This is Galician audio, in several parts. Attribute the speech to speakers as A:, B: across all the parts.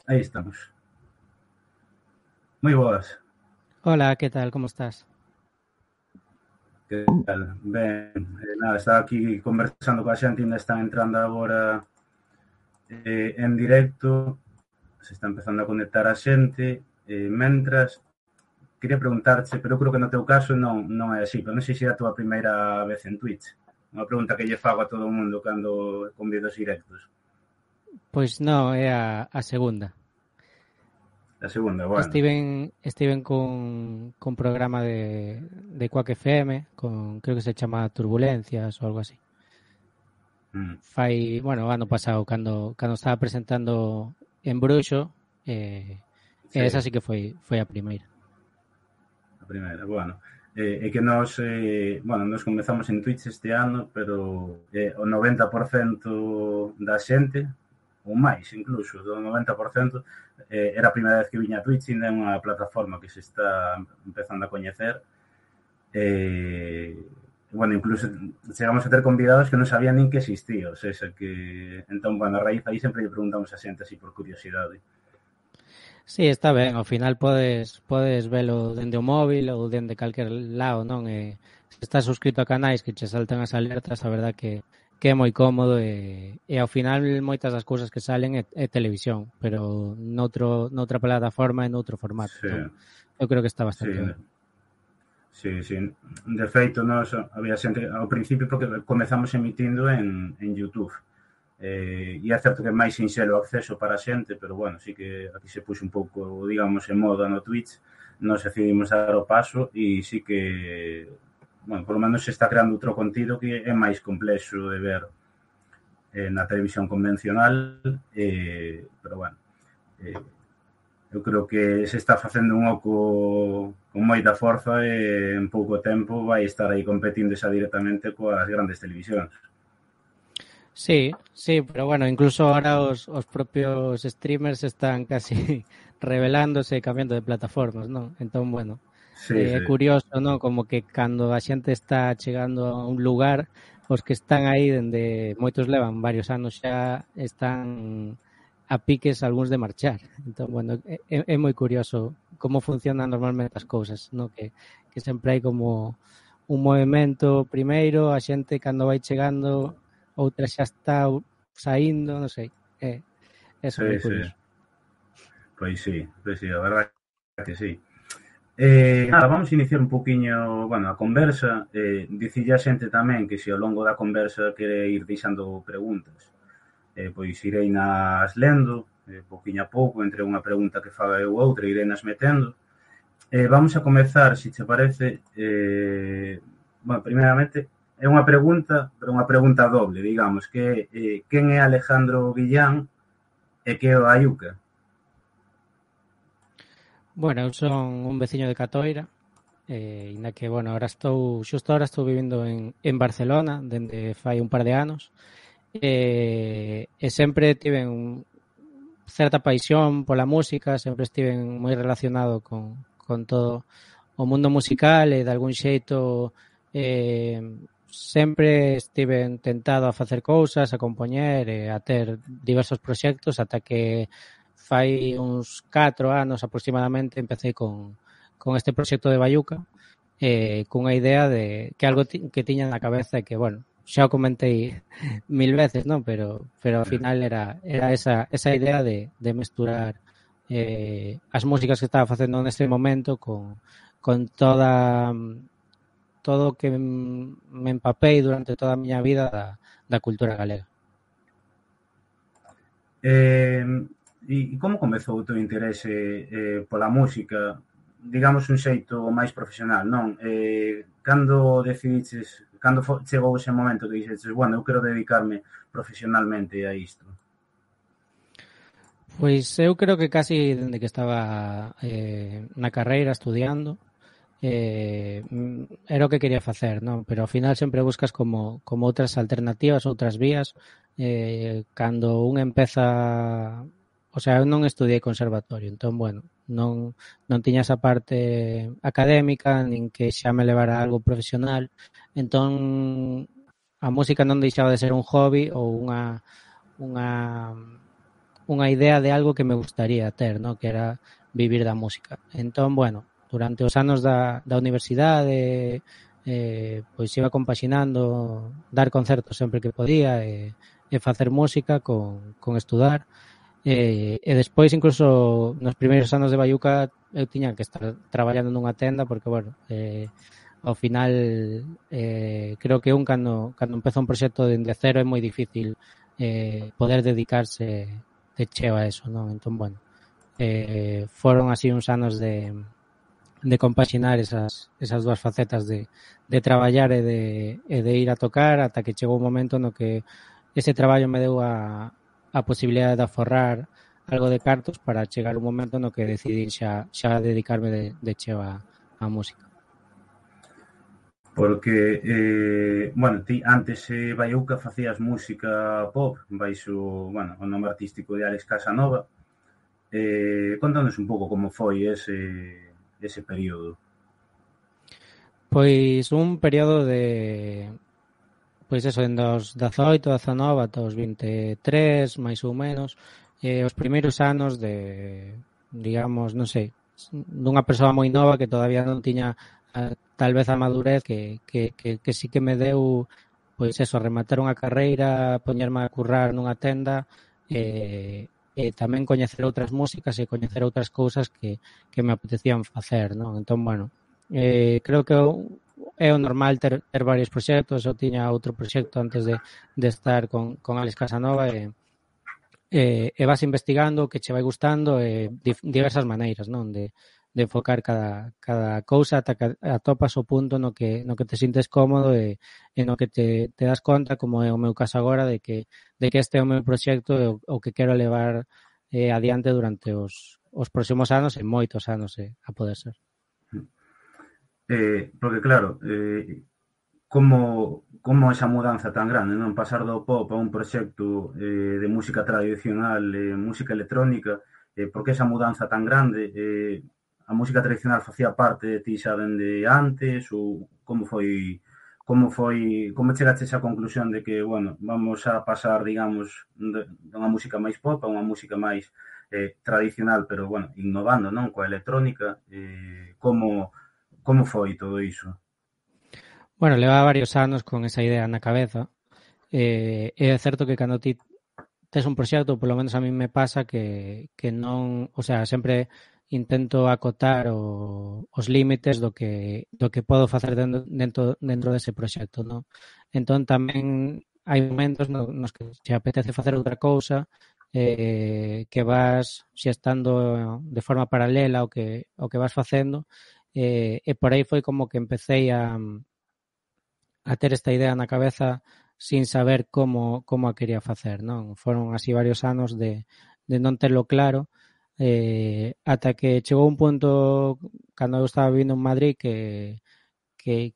A: Aí estamos. Moi boas.
B: Hola, ¿qué tal? ¿Cómo estás?
A: Que tal? Ben, nada, estaba aquí conversando coa xente, ainda están entrando agora en directo, se está empezando a conectar a xente, mentras, quería preguntarte, pero eu creo que no teu caso non é así, pero non sei se é a túa primeira vez en Twitch. Unha pregunta que lle fago a todo o mundo cando convido os directos.
B: Pois non, é a segunda.
A: A segunda, bueno.
B: Estiven con programa de Quack FM, creo que se chama Turbulencias ou algo así.
A: Mm,
B: Bueno, ano pasado, cando estaba presentando en Bruxo, esa
A: sí,
B: sí que foi a primeira.
A: a primeira, bueno. É que nos comezamos en Twitch este ano, pero o 90% da xente, ou máis incluso, do 90%, era a primeira vez que viña a Twitch, ainda é unha plataforma que se está empezando a coñecer. Bueno, incluso chegamos a ter convidados que non sabían nin que existía, o sea, que entón, bueno, a raíz aí sempre lle preguntamos a xente así por curiosidade.
B: Sí, está ben, ao final podes velo dende o móvil ou dende calquer lado, non? Se estás suscrito a canais que che saltan as alertas, a verdad que é moi cómodo e ao final moitas das cousas que salen é televisión, pero noutra plataforma e noutro formato.
A: Sí,
B: Entón, eu creo que está
A: sí,
B: bastante ben.
A: sí, sí. De feito, nos había xente ao principio porque comezamos emitindo en YouTube. E é certo que é máis sinxelo o acceso para a xente, pero bueno, sí que aquí se puxe un pouco, digamos, en moda no Twitch, nos decidimos dar o paso e sí que, bueno, por lo menos se está creando outro contido que é máis complexo de ver na televisión convencional, pero bueno, eh, eu creo que se está facendo un oco con moita forza e en pouco tempo vai estar aí competindo xa directamente coas grandes televisións.
B: Sí, sí, pero bueno, incluso ahora os propios streamers están casi revelándose e cambiando de plataformas, non? Entón, bueno,
A: Sí,
B: é
A: sí,
B: curioso, non? Como que cando a xente está chegando a un lugar, os que están aí dende moitos levan varios anos xa están a piques algúns de marchar. Entón, bueno, é moi curioso como funcionan normalmente as cousas, non? Que sempre hai como un movimento primeiro, a xente cando vai chegando, outra xa está saindo, non sei. Eso moi
A: sí, sí.
B: curioso.
A: Pois sí, a verdade é que sí. Nada, vamos a iniciar un poquinho, bueno, a conversa. Dicille a xente tamén que se ao longo da conversa quere ir deixando preguntas, pois irei nas lendo, poquinho a pouco, entre unha pregunta que faga eu outra, irei nas metendo. Vamos a comezar, se che parece, bueno, primeiramente, é unha pregunta, pero unha pregunta doble, digamos, que é quen é Alejandro Guillán e que é o Ayuca?
B: Bueno, eu son un veciño de Catoira, inda que, bueno, xusto ahora estou vivindo en Barcelona, dende fai un par de anos, e sempre tiven certa paixón pola música, sempre estiven moi relacionado con todo o mundo musical e de algún xeito eh, sempre estiven tentado a facer cousas, a compoñer e a ter diversos proxectos ata que fai uns 4 anos aproximadamente empecé con este proxecto de Bayuca cunha idea de que algo que tiña na cabeza e que, bueno, xa o comentei mil veces, non? Pero ao final era esa idea de mesturar as músicas que estaba facendo neste momento con todo o que me empapei durante toda a miña vida da cultura galega.
A: Eh, e como comezou o teu interese pola música, digamos un xeito máis profesional, non? Cando decidiches, chegou ese momento que dixeches, bueno, eu quero dedicarme profesionalmente a isto?
B: Pois eu creo que casi dende que estaba na carreira estudiando, era o que quería facer, non? Pero ao final sempre buscas como outras alternativas, outras vías. Cando un empeza, o sea, eu non estudiei conservatorio, entón, bueno, non tiña esa parte académica, nin que xa me levara a algo profesional, entón a música non deixaba de ser un hobby ou unha unha idea de algo que me gustaría ter, ¿no? Que era vivir da música. Entón, bueno, durante os anos da universidade pois iba compaxinando dar concertos sempre que podía e facer música con estudar e despois incluso nos primeiros anos de Baiuca eu tiña que estar traballando nunha tenda porque, bueno, ao final creo que cando empeza un proxecto dende cero é moi difícil poder dedicarse de cheo a eso, non? Entón, bueno, foron así uns anos de compaxinar esas dúas facetas de traballar e de ir a tocar ata que chegou un momento no que ese traballo me deu a posibilidade de aforrar algo de cartos para chegar un momento no que decidí xa dedicarme de cheo a música.
A: Porque, bueno, ti antes Baiuca facías música pop baixo, bueno, o nome artístico de Alex Casanova. Contanos un pouco como foi ese período.
B: Pois un período de pois eso, en dos 18, 19 ata os 23, máis ou menos, os primeiros anos de, digamos, non sei, dunha persoa moi nova que todavía non tiña tal vez a madurez que sí que me deu pois eso, rematar unha carreira, poñerme a currar nunha tenda e tamén coñecer outras músicas e coñecer outras cousas que me apetecían facer, non? Entón, bueno, creo que é o normal ter varios proxectos. Eu tiña outro proxecto antes de estar con Alex Casanova e vas investigando o que che vai gustando e diversas maneiras, non? De enfocar cada cousa ata que atopas o punto no que te sintes cómodo e no que te das conta, como é o meu caso agora, de que este é o meu proxecto e o que quero levar adiante durante os próximos anos e moitos anos a poder ser.
A: Porque claro, como esa mudanza tan grande, non? Pasar do pop a un proxecto de música tradicional, música electrónica, porque esa mudanza tan grande, a música tradicional facía parte de ti xa dende antes ou como chegaste a esa conclusión de que, bueno, vamos a pasar, digamos, dunha música máis pop a unha música máis tradicional, pero, bueno, innovando, non? Coa electrónica, como foi todo iso?
B: Bueno, leva varios anos con esa idea na cabeza. É certo que cando ti tes un proxecto, polo menos a mí me pasa que non, o sea, sempre intento acotar os límites do que podo facer dentro dese proxecto, non? Entón tamén hai momentos nos que se apetece facer outra cousa que vas xestando de forma paralela ao que vas facendo e por aí foi como que empecé a ter esta idea na cabeza sin saber como a quería facer, non? Foron así varios anos de non terlo claro ata que chegou un punto cando eu estaba vivindo en Madrid que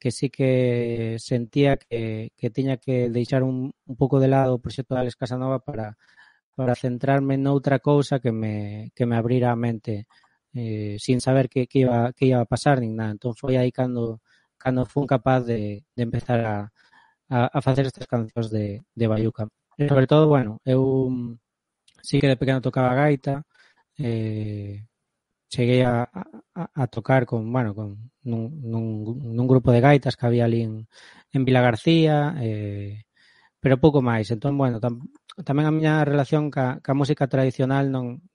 B: sí que sentía que tiña que deixar un pouco de lado o proxecto de Alex Casanova para centrarme noutra cousa que me abrira a mente sin saber que iba a pasar nin nada. Entón foi aí cando fun capaz de empezar a facer estas cancións de Baiuca. E sobre todo, bueno, eu sí que de pequeno tocaba gaita, cheguei a tocar con nun grupo de gaitas que había ali en Vila García, pero pouco máis. Entón, bueno, tamén a miña relación ca música tradicional non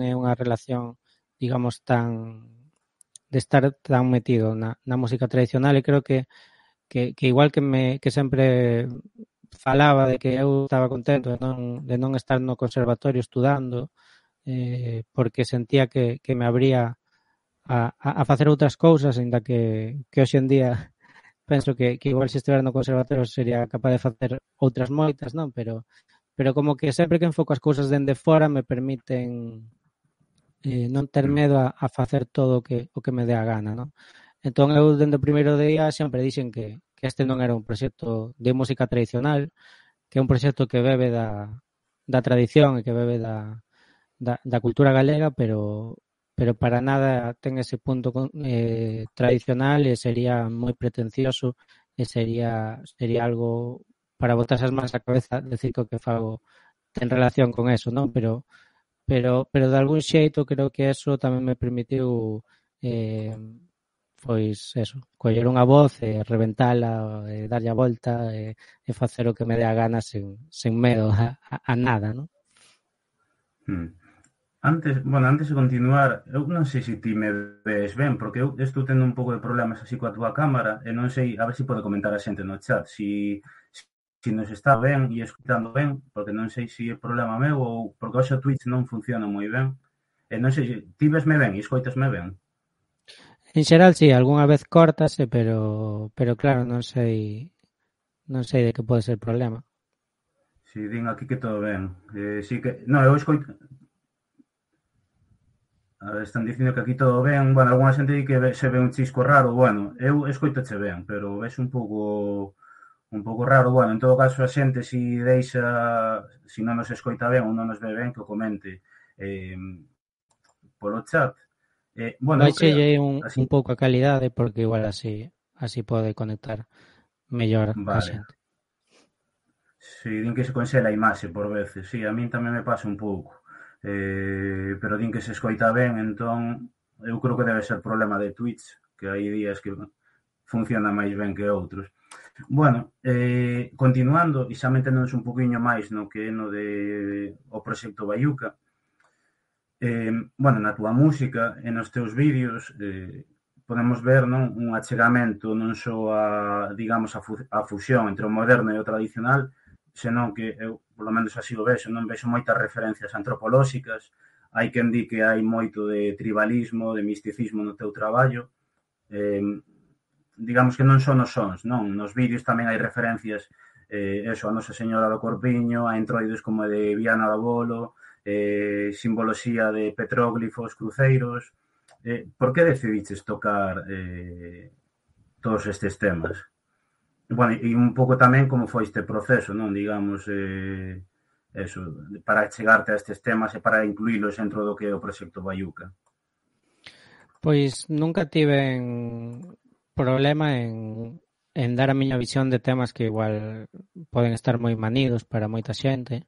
B: é unha relación, digamos, de estar tan metido na música tradicional e creo que igual que sempre falaba de que eu estaba contento de non estar no conservatorio estudando porque sentía que me abría a facer outras cousas, ainda que hoxe en día penso que igual se estivera no conservatorio sería capaz de facer outras moitas, non? Pero como que sempre que enfoco as cousas dende fora me permiten non ter medo a facer todo o que me dé a gana, non? Entón eu dende o primeiro día sempre dixen que este non era un proxecto de música tradicional, que é un proxecto que bebe da tradición e que bebe da cultura galega, pero para nada ten ese punto tradicional e sería moi pretencioso e sería algo para botarse as mans á cabeza decir que o que fago ten relación con eso, non? Pero pero de algún xeito creo que eso tamén me permitiu eh, pois eso, coller unha voz e reventala, darlle a volta e facer o que me dé a gana sen medo a nada, non?
A: Hmm. Antes de continuar, eu non sei se ti me ves ben, porque eu estou tendo un pouco de problemas así coa túa cámara e non sei, a ver se pode comentar a xente no chat, si nos está ben e escutando ben, porque non sei se é problema meu ou porque hoxe o Twitch non funciona moi ben. E non sei se ti vesme ben e escoitasme ben.
B: En xeral, sí, algunha vez córtase, pero claro, non sei de que pode ser o problema.
A: Si din aquí que todo ben. Si que, non, eu escoito. A ver, están dicindo que aquí todo ben. Bueno, algunha xente di que se ve un chisco raro. Bueno, eu escoitoche ben, pero ves un pouco raro. Bueno, en todo caso, a xente si non nos escoita ben ou non nos ve ben, que o comente eh, polo chat. Bueno, eu creo,
B: Baixelle
A: así,
B: un pouco a calidade porque igual así pode conectar mellor a
A: vale.
B: xente.
A: Si, din que se conxela a imaxe por veces. Si, a min tamén me pasa un pouco. Pero din que se escoita ben, entón eu creo que debe ser problema de Twitch, que hai días que funciona máis ben que outros. Bueno, continuando, e xa meténdonos un poquinho máis no que é no de o proxecto Baiuca, bueno, na túa música e nos teus vídeos podemos ver, non, un achegamento non só digamos, a fusión entre o moderno e o tradicional, senón que eu, polo menos así o vexo, non vexo moitas referencias antropolóxicas, hai quen di que hai moito de tribalismo, de misticismo no teu traballo, eh, digamos que non son os sons, non? Nos vídeos tamén hai referencias eso, a Nosa Señora do Corpiño, a entroides como de Viana do Bolo, simboloxía de petróglifos, cruceiros. Por que decidiches tocar todos estes temas? Bueno, e un pouco tamén como foi este proceso, non? Digamos, eso, para chegarte a estes temas e para incluílos dentro do que é o proxecto Baiuca.
B: Pois nunca tiven problema en dar a miña visión de temas que igual poden estar moi manidos para moita xente,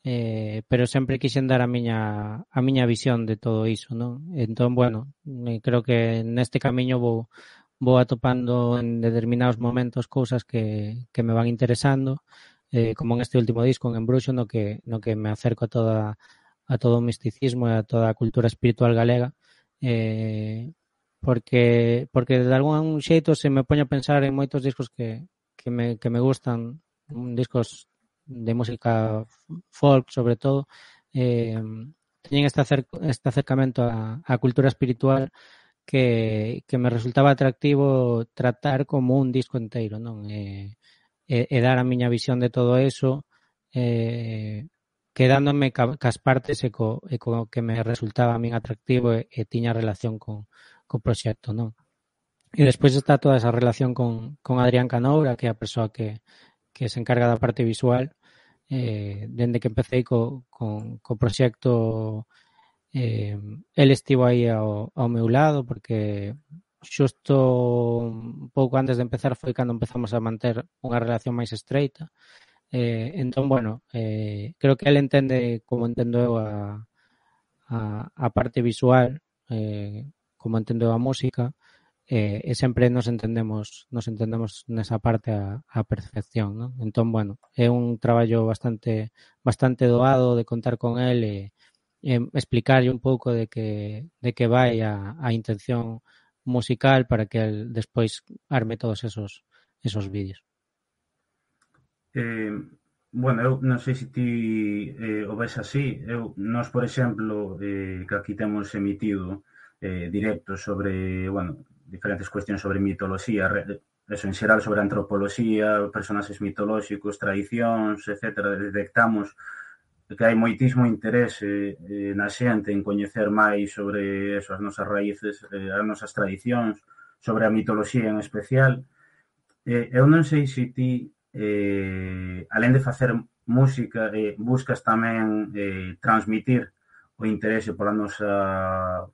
B: pero sempre quixen dar a miña visión de todo iso, non? Entón, bueno, creo que neste camiño vou atopando en determinados momentos cousas que me van interesando, como en este último disco, en Embruxo, no que me acerco a todo o misticismo e a toda a cultura espiritual galega, porque de algún xeito se me poño a pensar en moitos discos que me gustan, discos de música folk sobre todo, teñen este acercamento á cultura espiritual que me resultaba atractivo tratar como un disco inteiro, non? E dar a miña visión de todo eso, quedándome cas partes e co que me resultaba a min atractivo e tiña relación co proxecto, non? E despois está toda esa relación con Adrián Canoura, que é a persoa que se encarga da parte visual, dende que empecé co proxecto, el estivo aí ao meu lado, porque xusto un pouco antes de empezar foi cando empezamos a manter unha relación máis estreita. Entón, bueno, creo que el entende como entendo eu a parte visual, como entendo eu a música, e sempre nos entendemos nesa parte a perfección, non? Entón, bueno, é un traballo bastante doado de contar con el e explicarlle un pouco de que vai a intención musical para que el despois arme todos esos vídeos.
A: Bueno, eu non sei se ti o ves así. Nós, por exemplo, que aquí temos emitido directos sobre, bueno, diferentes cuestións sobre mitoloxía, eso, en xeral sobre antropoloxía, personaxes mitolóxicos, tradicións, etc. Detectamos que hai moitismo interese na xente en coñecer máis sobre eso, as nosas raíces, as nosas tradicións, sobre a mitoloxía en especial. Eu non sei se ti, alén de facer música, buscas tamén transmitir o interese pola nosa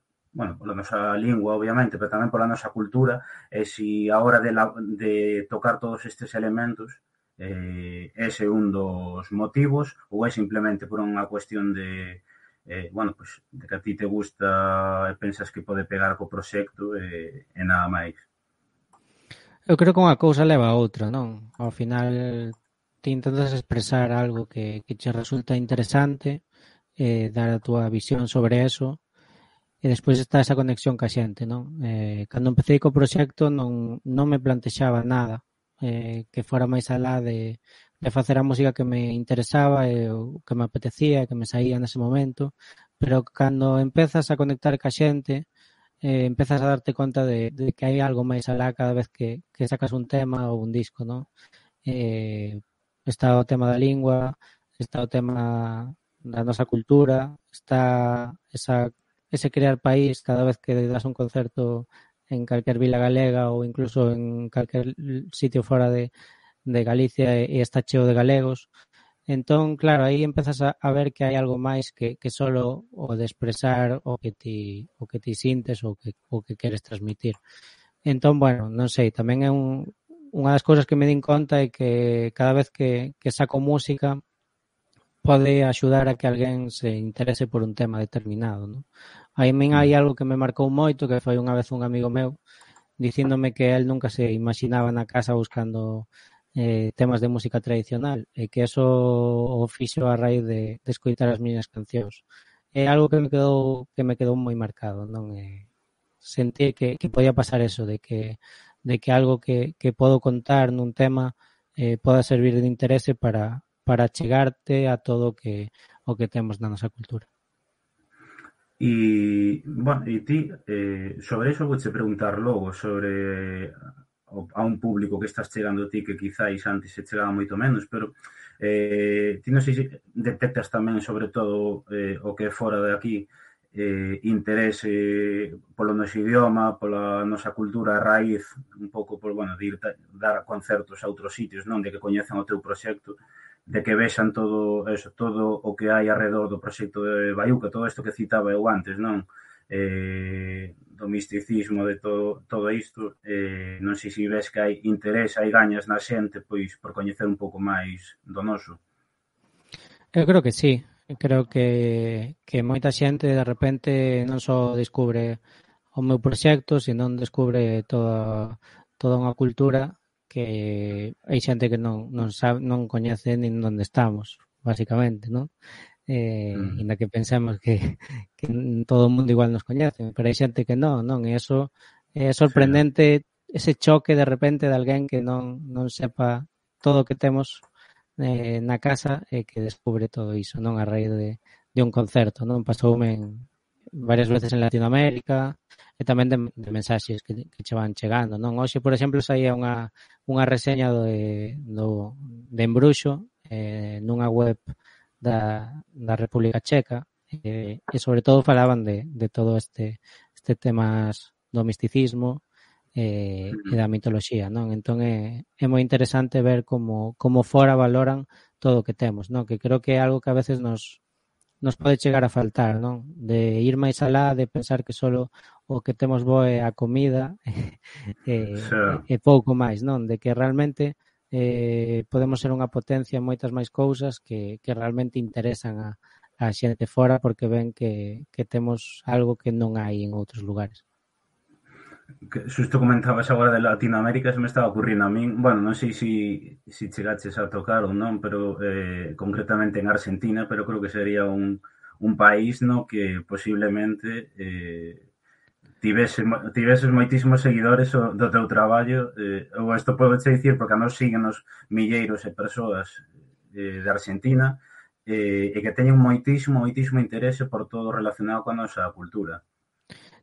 A: lingua, obviamente, pero tamén pola nosa cultura, e se a hora de tocar todos estes elementos ese é un dos motivos ou é simplemente por unha cuestión de bueno, pois, de que a ti te gusta e pensas que pode pegar co proxecto e nada máis.
B: Eu creo que unha cousa leva a outra, non? Ao final ti intentas expresar algo que che resulta interesante, dar a túa visión sobre eso, e despois está esa conexión ca xente, non? Cando empecé co proxecto non me plantexaba nada que fora máis alá de facer a música que me interesaba e o que me apetecía, que me saía nese momento, pero cando empezas a conectar ca xente, empezas a darte conta de que hai algo máis alá cada vez que sacas un tema ou un disco, non? Está o tema da lingua, está o tema da nosa cultura, está ese crear país cada vez que das un concerto en calquer vila galega ou incluso en calquer sitio fora de Galicia e está cheo de galegos. Entón, claro, aí empezas a ver que hai algo máis que solo o de expresar o que ti sintes ou o que queres transmitir. Entón, bueno, non sei, tamén é unha das cousas que me din conta é que cada vez que saco música pode axudar a que alguén se interese por un tema determinado, non? Aí min hai algo que me marcou moito, que foi unha vez un amigo meu dicíndome que él nunca se imaginaba na casa buscando temas de música tradicional e que eso o fixo a raíz de escoitar as miñas cancións. É algo que me quedou moi marcado, non? Sentir que podía pasar eso, de que algo que podo contar nun tema poda servir de interese para chegarte a todo o que temos na nosa cultura.
A: E, bueno, e ti, sobre iso vouche preguntar logo, sobre a un público que estás chegando ti que quizáis antes se chegaba moito menos, pero ti non sei se detectas tamén sobre todo o que é fora de aquí interese polo noso idioma, pola nosa cultura a raíz un pouco por, bueno, de ir dar concertos a outros sitios, non? De que coñezan o teu proxecto, de que vexan todo eso, todo o que hai alrededor do proxecto de Baiuca, todo isto que citaba eu antes, non? Do misticismo, de todo isto, non sei se ves que hai interés, hai gañas na xente, pois, por coñecer un pouco máis do noso.
B: Eu creo que sí. Creo que moita xente de repente non só descubre o meu proxecto, senón descubre toda unha cultura que hai xente que non sabe, non coñece nin onde estamos, basicamente, non? Inda que pensemos que todo o mundo igual nos coñece, pero hai xente que non, e eso é sorprendente, ese choque de repente de alguén que non sepa todo o que temos na casa e que descubre todo iso, non? A raíz de un concerto, non? Pasoume varias veces en Latinoamérica e tamén de mensaxes que che van chegando, non? Hoxe, por exemplo, saía unha reseña de Embruxo nunha web da República Checa e sobre todo falaban de todo este temas do misticismo e da mitoloxía, non? Entón é moi interesante ver como fora valoran todo o que temos, non? Que creo que é algo que a veces nos pode chegar a faltar, non? De ir máis alá, de pensar que solo o que temos bo é a comida e pouco máis, non? De que realmente podemos ser unha potencia en moitas máis cousas que realmente interesan a xente fora porque ven que temos algo que non hai en outros lugares.
A: Que xusto comentabas agora de Latinoamérica, se me estaba ocurrindo a min, bueno, non sei se chegaches a tocar ou non, pero concretamente en Argentina, pero creo que sería un país no que posiblemente tiveses moitísimos seguidores do teu traballo, ou isto podo che dicir porque a nos síguenos milleiros de persoas de Argentina e que teñen moitísimo interese por todo relacionado coa nosa cultura.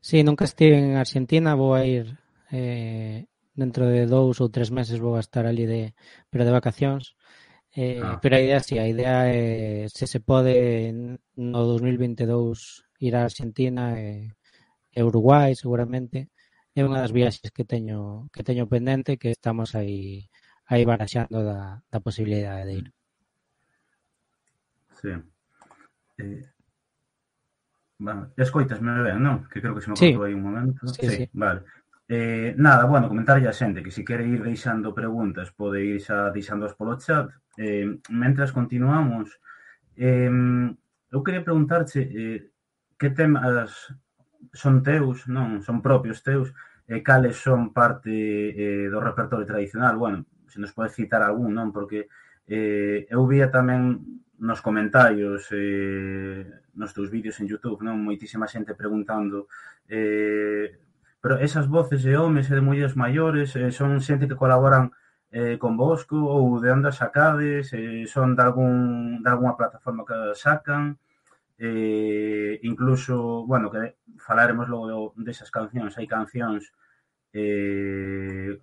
B: Sí, nunca estive en Argentina, vou a ir dentro de 2 ou 3 meses vou a estar ali pero de vacacións. Pero a idea é se pode no 2022 ir a Argentina e Uruguai seguramente. É unha das viaxes que teño pendente que estamos aí baraxando da posibilidade de ir.
A: Sí. Bueno, escoitasme ben, non? Que creo que se me cortou aí un momento.
B: Sí.
A: Vale. Nada, bueno, comentarlle a xente que se quere ir deixando preguntas pode ir xa deixándoas polo chat. Mentras continuamos, eu eu quería preguntarche que temas son teus, non? Son propios teus, e cales son parte do repertorio tradicional. Bueno, se nos pode citar algún, non? Porque eu vía tamén nos comentarios nos teus vídeos en YouTube, non? Moitísima xente preguntando pero esas voces de homes e de mulleres maiores son xente que colaboran convosco ou de onde sacades, son de algunha plataforma que sacan, incluso, bueno, que falaremos logo desas cancións, hai cancións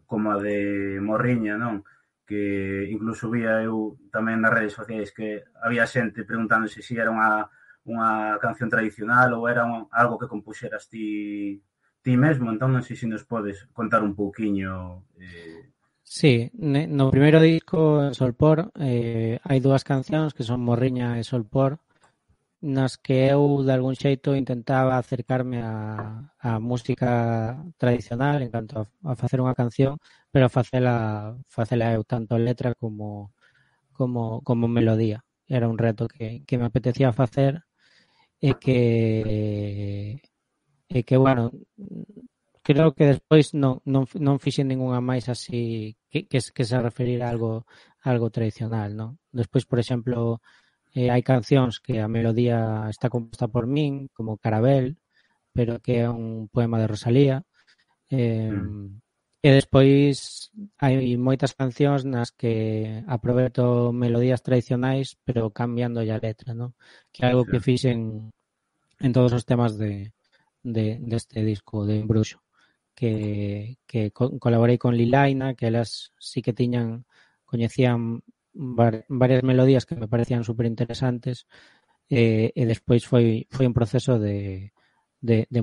A: como a de Morriña, non? Que incluso vía eu tamén nas redes sociais que había xente preguntándose se era unha canción tradicional ou era algo que compuxeras ti mesmo, entón non sei se nos podes contar un pouquiño.
B: Sí, no primeiro disco, en Solpor, hai dúas cancións que son Morriña e Solpor, nas que eu, de algún xeito, intentaba acercarme a música tradicional en canto a facer unha canción, pero facela eu, tanto letra como melodía. Era un reto que me apetecía facer e que bueno, creo que despois non fixen ningunha máis así que se referir a algo tradicional, non? Despois, por exemplo, hai cancións que a melodía está composta por min, como Carabel, pero que é un poema de Rosalía. E despois hai moitas cancións nas que aproveito melodías tradicionais, pero cambiando a letra, non? Que é algo que fixen en todos os temas deste disco de Embruxo. Que colaborei con Lilaina, que elas sí que coñecían varias melodías que me parecían super interesantes, e despois foi un proceso de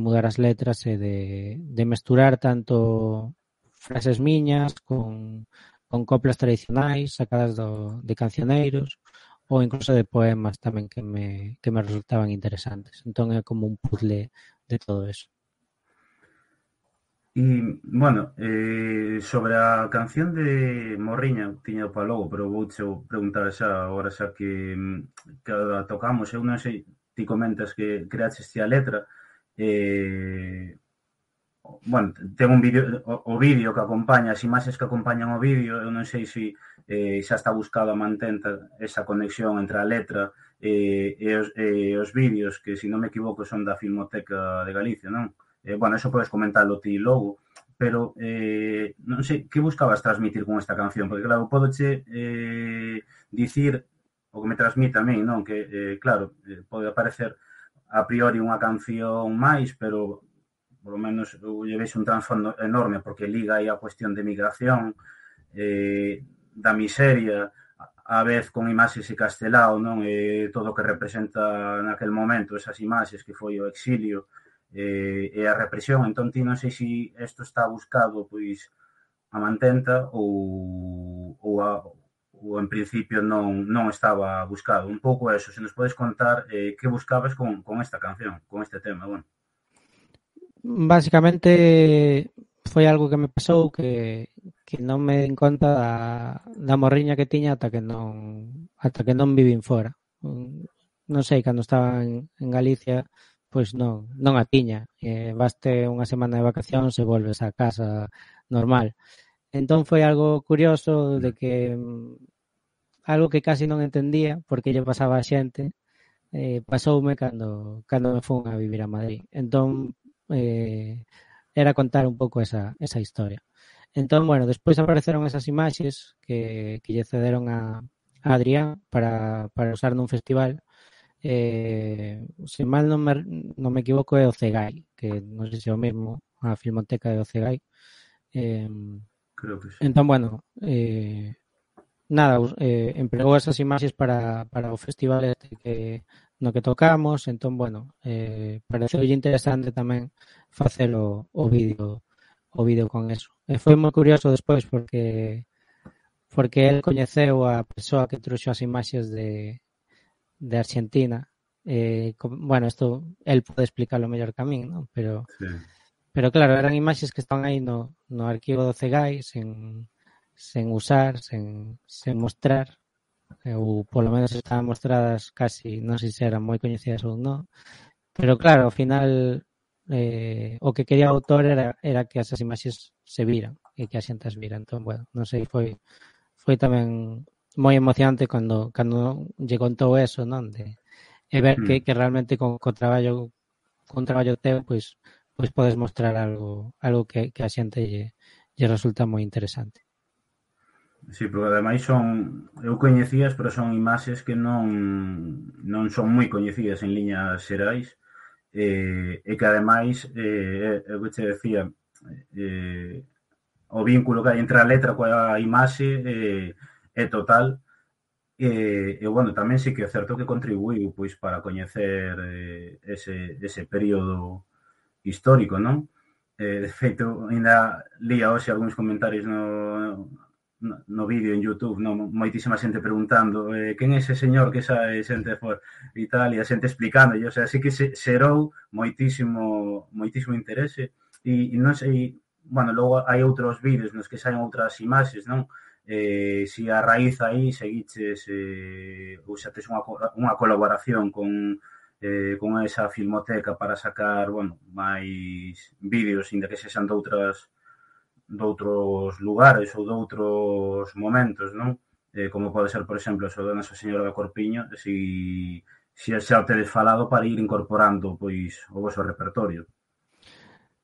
B: mudar as letras e de mesturar tanto frases miñas con coplas tradicionais sacadas de cancioneiros ou incluso de poemas tamén que me resultaban interesantes. Entón é como un puzzle de todo eso.
A: E, bueno, sobre a canción de Morriña, tiña o pa logo, pero vouche preguntar xa, agora xa que a tocamos, eu non sei, ti comentas que creaches ti a letra, bueno, ten un vídeo, o vídeo que acompaña, as imaxes que acompañan o vídeo, eu non sei se xa está buscado a mantenta esa conexión entre a letra e os vídeos, que, se non me equivoco, son da Filmoteca de Galicia, non? Bueno, eso podes comentarlo ti logo, pero non sei, que buscabas transmitir con esta canción? Porque, claro, podoche dicir o que me transmite a mí, non? Que, claro, pode aparecer a priori unha canción máis, pero por lo menos eu lle vexo un trasfondo enorme, porque liga aí a cuestión de migración, da miseria, a vez con imaxes e castelao, non? Todo o que representa naquel momento esas imaxes que foi o exilio, e a represión. Entón, ti non sei se isto está buscado pois a mantenta ou en principio non estaba buscado. Un pouco eso, se nos podes contar que buscabas con esta canción, con este tema, bueno.
B: Básicamente foi algo que me pasou que non me din conta da morriña que tiña ata que non vivín fora. Non sei, cando estaba en Galicia, pois non a tiña. Vaste unha semana de vacacións e volves a casa normal. Entón foi algo curioso de que algo que casi non entendía porque lle pasaba a xente, pasoume cando me fun a vivir a Madrid. Entón era contar un pouco esa historia. Entón, bueno, despois apareceron esas imaxes que lle cederon a Adrián para usar nun festival. Se mal non me equivoco é o Cegai, que non sei se é o mesmo, a Filmoteca de Ocegai.
A: Creo que sí.
B: Entón, bueno, nada, empregou esas imaxes para o festival este no que tocamos. Entón, bueno, pareceulle interesante tamén facer o vídeo con eso. E foi moi curioso despois porque el coñeceu a persoa que trouxo as imaxes de Argentina. Bueno, isto el pode explicarlo mellor que a min, ¿no? Pero claro, eran imaxes que estaban aí no arquivo do Cegai sen usar, sen mostrar, ou polo menos estaban mostradas casi, non sei se eran moi coñecidas ou non, pero claro, ao final o que quería o autor era que esas imaxes se viran e que a xente as vira. Entón, bueno, non sei, foi tamén moi emocionante cando lle contou eso, non? E ver
A: Mm.
B: que realmente con traballo teu, pois podes mostrar algo que a xente lle resulta moi interesante.
A: Sí, porque ademais eu coñecías, pero son imaxes que non son moi coñecidas en liñas xerais, e que ademais, eu que che decía, eh, o vínculo que hai entre a letra coa imaxe é total, e bueno, tamén sí que é certo que contribuiu pois para coñecer ese período histórico, non? De feito, ainda lía hoxe algúns comentarios no vídeo en YouTube, non? Moitísima xente preguntando quen é ese señor que sae xente por Italia, xente explicando, o sea, sí que se xerou moitísimo interese e non sei, bueno, logo hai outros vídeos nos que saen outras imaxes, non? Si a raíz aí seguiches ou xa tes unha colaboración con esa filmoteca para sacar, bueno, máis vídeos, inda que sexan doutros lugares ou doutros momentos, non? Como pode ser, por exemplo, o da Nosa Señora da Corpiño, si xa o tedes falado para ir incorporando pois o vosso repertorio.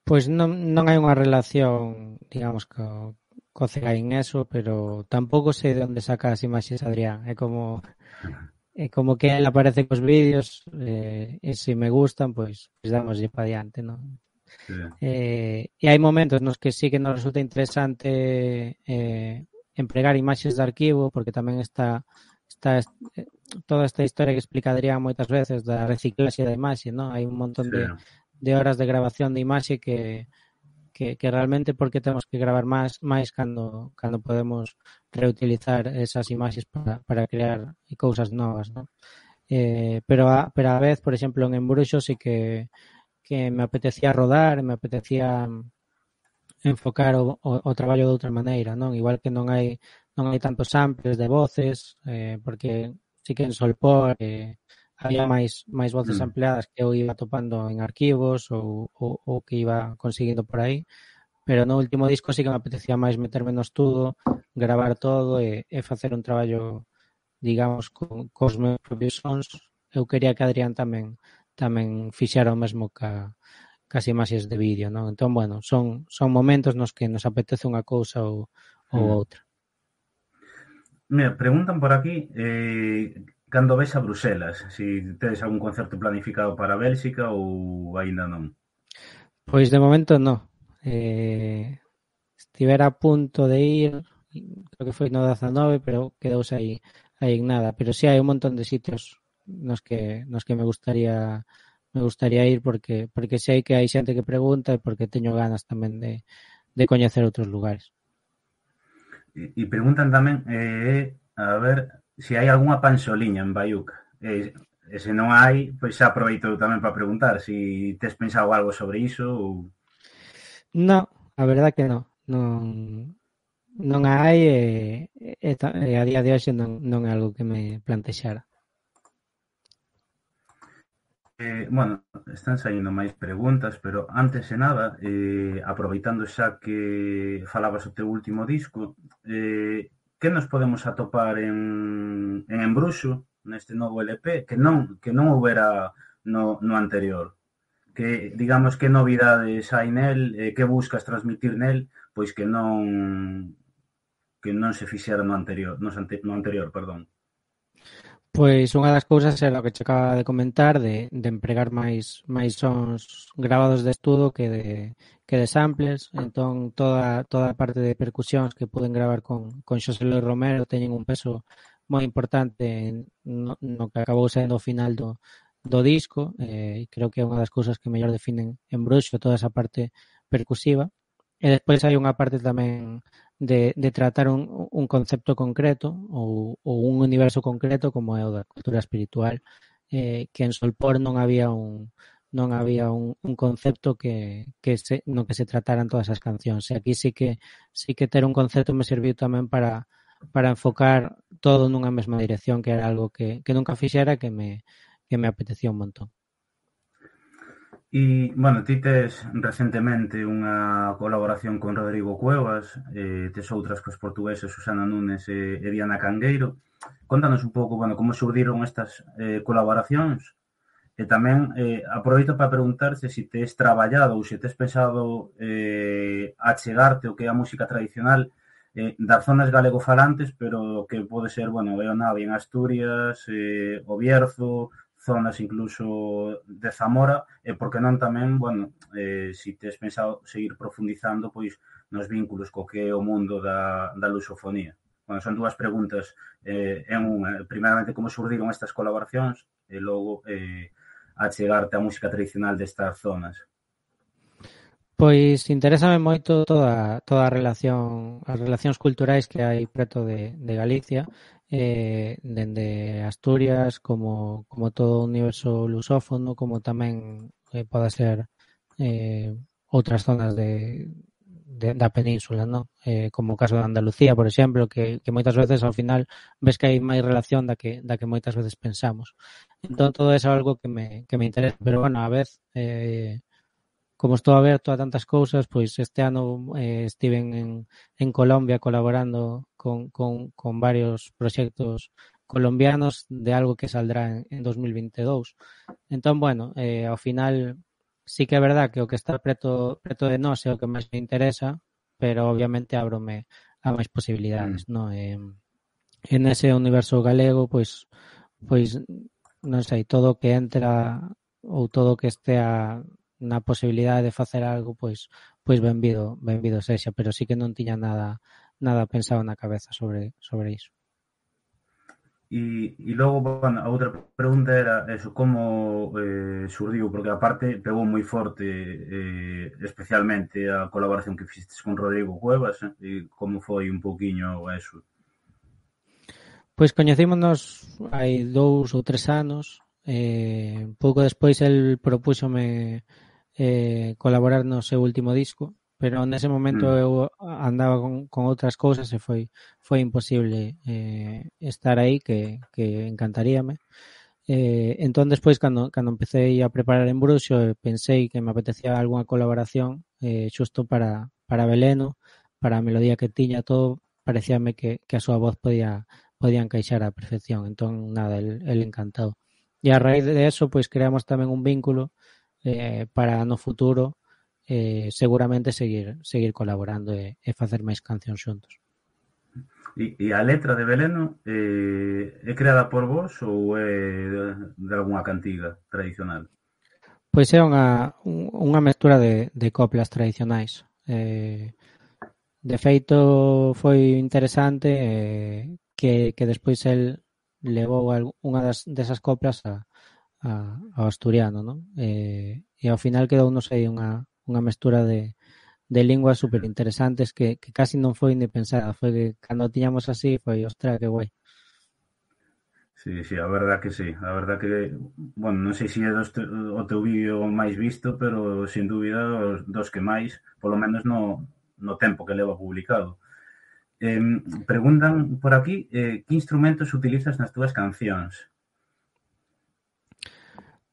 B: Pois non hai unha relación, digamos, co CEGAI en eso, pero tampouco sei de onde saca as imaxes Adrián. É como que el aparece cos vídeos e se me gustan, pois damoslle pa diante, non?
A: Sí.
B: E hai momentos nos que sí que nos resulta interesante empregar imaxes de arquivo, porque tamén está toda esta historia que explica Adrián moitas veces da reciclaxe da imaxe, non? Hai un montón
A: Sí.
B: de horas de grabación de imaxe que realmente porque temos que gravar máis cando podemos reutilizar esas imaxes para crear cousas novas, non? Pero a vez, por exemplo, en Embruxo sí que me apetecía rodar, me apetecía enfocar o traballo de outra maneira, non? Igual que non hai tantos samples de voces, porque sí que en Solpor había máis voces
A: Mm.
B: ampliadas que eu iba topando en arquivos ou que iba conseguindo por aí, pero no último disco sí que me apetecía máis meterme no estudo, gravar todo e facer un traballo, digamos, cos meus propios sons. Eu quería que Adrián tamén fixera o mesmo cas imaxes de vídeo, non? Entón, bueno, son momentos nos que nos apetece unha cousa ou
A: Mm.
B: outra.
A: Mira, preguntan por aquí cando ves a Bruselas, si tedes algún concerto planificado para Bélxica ou aínda non.
B: Pois de momento non. Estivera a punto de ir, creo que foi no 19, pero quedouse aí en nada. Pero sí hai un montón de sitios nos que me gustaría ir porque sei que hai xente que pregunta e porque teño ganas tamén de coñecer outros lugares.
A: E preguntan tamén, a ver, se hai algunha panxoliña en Baiuca. E se non hai, pois xa aproveito tamén para preguntar se tes pensado algo sobre iso ou...
B: No, a verdad que non hai e a día de hoxe non é algo que me plantexara.
A: Bueno, están saindo máis preguntas, pero antes de nada, aproveitando xa que falabas o teu último disco, que nos podemos atopar en Embruxo, neste novo LP, que non houbera no anterior? Que, digamos, que novidades hai nel, que buscas transmitir nel, pois que non se fixera no anterior, perdón.
B: Pois unha das cousas era o que che acaba de comentar de empregar máis sons gravados de estudo que de samples. Entón toda a parte de percusións que puden gravar con Xosé Luis Romero teñen un peso moi importante no que acabou sendo o final do disco. Creo que é unha das cousas que mellor definen en Bruxo, toda esa parte percusiva. E despois hai unha parte tamén de tratar un concepto concreto ou un universo concreto como é o da cultura espiritual, que en Solpor non había un concepto no que se trataran todas as cancións. E aquí sí que ter un concepto me serviu tamén para enfocar todo nunha mesma dirección, que era algo que nunca fixera, que me apetecía un montón.
A: E, bueno, ti tes recentemente unha colaboración con Rodrigo Cuevas, tes outras cos portugueses Susana Núñez e Diana Cangueiro. Contanos un pouco, bueno, como surdiron estas colaboracións. E tamén aproveito para preguntarte se tes traballado ou se tes pensado achegarte o que é a música tradicional das zonas galegofalantes, pero que pode ser, bueno, o Navia en Asturias, o Bierzo, zonas incluso de Zamora, e porque non tamén, bueno, se tes pensado seguir profundizando pois nos vínculos co que é o mundo da lusofonía. Bueno, son dúas preguntas en unha. Primeramente, como surdiron estas colaboracións e logo achegarte a música tradicional destas zonas.
B: Pois interésame moito toda a relación, as relacións culturais que hai preto de Galicia, dende Asturias como todo o universo lusófono, como tamén pode ser outras zonas da península, ¿no? Como o caso de Andalucía, por exemplo, que moitas veces ao final ves que hai máis relación da que moitas veces pensamos. Entón todo eso é algo que me interesa, pero bueno, a vez como estou aberto a tantas cousas, pois este ano estiven en Colombia colaborando con varios proxectos colombianos de algo que saldrá en 2022. Entón, bueno, ao final sí que é verdad que o que está preto de nós é o que máis me interesa, pero obviamente ábrome a máis posibilidades, non? En ese universo galego, pois non sei, todo o que entra ou todo o que estea na posibilidade de facer algo, pois benvido sexa, pero sí que non tiña nada pensado na cabeza sobre iso.
A: E logo, bueno, a outra pregunta era eso, como surdiu, porque aparte pegou moi forte especialmente a colaboración que fixestes con Rodrigo Cuevas, e como foi un pouquiño eso?
B: Pois coñecímonos hai 2 ou 3 anos, pouco despois el propúxome colaborar no seu último disco, pero nese momento eu andaba con outras cousas e foi imposible estar aí, que encantaríame. Entón, despois, cando empecé a preparar en Bruxo, pensei que me apetecía algunha colaboración xusto para Beleno, para a melodía que tiña, todo, parecíame que a súa voz podía encaixar á perfección. Entón, nada, el encantado. E a raíz de eso, pois creamos tamén un vínculo para no futuro seguramente seguir colaborando e facer máis cancións xuntos.
A: E a letra de Beleno é creada por vos ou é de algunha cantiga tradicional?
B: Pois é unha mestura de coplas tradicionais. De feito, foi interesante que despois el levou unha desas coplas ao asturiano, non? E ao final quedou, non sei, unha mestura de linguas super interesantes que casi non foi ni pensada. Foi que cando tiñamos así, foi, ostra, que guai.
A: Sí, sí, a verdad que sí. A verdad que, bueno, non sei se é o teu vídeo máis visto, pero sin dúbida dos que máis, polo menos no tempo que leva publicado. Preguntan por aquí que instrumentos utilizas nas túas cancións?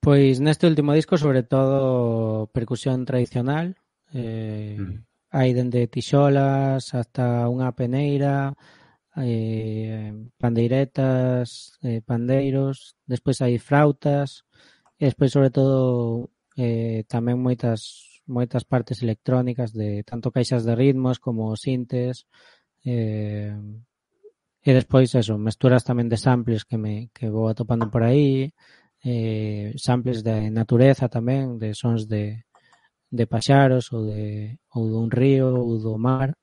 B: Pois neste último disco, sobre todo, percusión tradicional. Hai dende tixolas hasta unha peneira, pandeiretas, pandeiros, despois hai frautas, e despois, sobre todo, tamén moitas partes electrónicas de tanto caixas de ritmos como sintes, e despois eso, mesturas tamén de samples que vou atopando por aí, samples de natureza tamén, de sons de paxaros ou dun río ou do mar,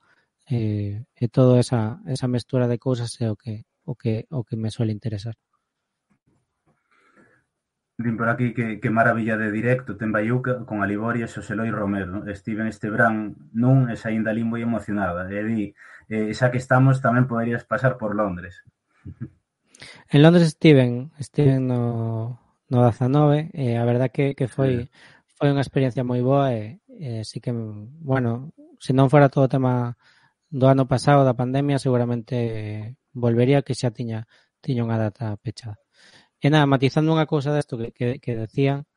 B: e toda esa mestura de cousas é o que me suele interesar.
A: Din por aquí que maravilla de directo ten Baiuca con Aliboria e Xoseloi Romero. Estiven este verán nun e saín dali moi emocionada. E di, xa que estamos, tamén poderías pasar por Londres.
B: En Londres estiven no 19, e a verdad que foi unha experiencia moi boa, e sí que, bueno, se non fora todo o tema do ano pasado da pandemia seguramente volvería, que xa tiña unha data pechada. E nada, matizando unha cousa desto que decían,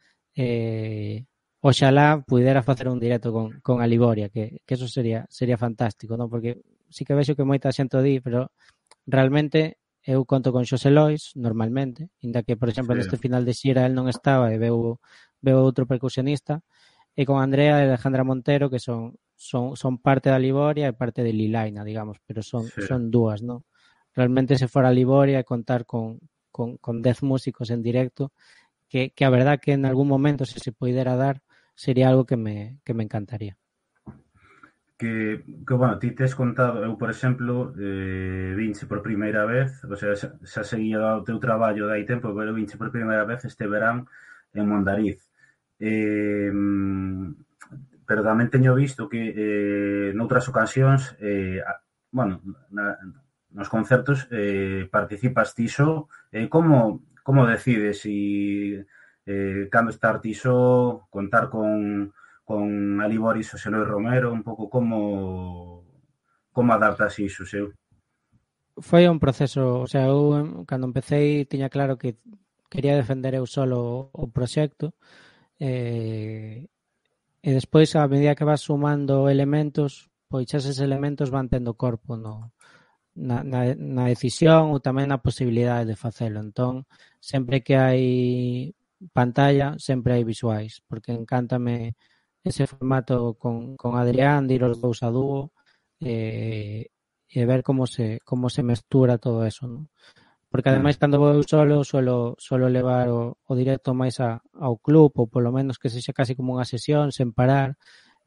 B: oxalá pudera facer un directo con a Liboria, que eso sería fantástico, non? Porque sí que vexo que moita xente o di, pero realmente eu conto con Xosé Lois normalmente, inda que, por exemplo,
A: Sí,
B: neste final de xira el non estaba e veu outro percusionista, e con Andrea e Alejandra Montero, que son parte da Liboria e parte de Lilaina, digamos, pero
A: sí.
B: son dúas, non? Realmente se fora a Liboria e contar con 10 músicos en directo, que a verdad que en algún momento, se pudiera dar, sería algo que me encantaría.
A: Bueno, ti tes contado, eu, por exemplo, vinche por primeira vez, o sea, xa seguía o teu traballo de hai tempo, pero vinche por primeira vez este verán en Mondariz. Eh, pero tamén teño visto que noutras ocasións, bueno, nos concertos participas ti só. Como decides si cando estar ti só, contar con Aliboris o Xeloi Romero, un pouco como adaptas iso, seu?
B: Foi un proceso, o sea, eu cando empecé tiña claro que quería defender eu solo o proxecto, e despois, a medida que vas sumando elementos, pois eses elementos van tendo corpo na decisión ou tamén na posibilidade de facelo. Entón, sempre que hai pantalla, sempre hai visuais, porque encántame ese formato con Adrián, de ir os dous a dúo, e ver como se mestura todo eso, non? Porque ademais cando vou eu solo suelo levar o directo máis ao club, ou polo menos que sexa casi como unha sesión sen parar.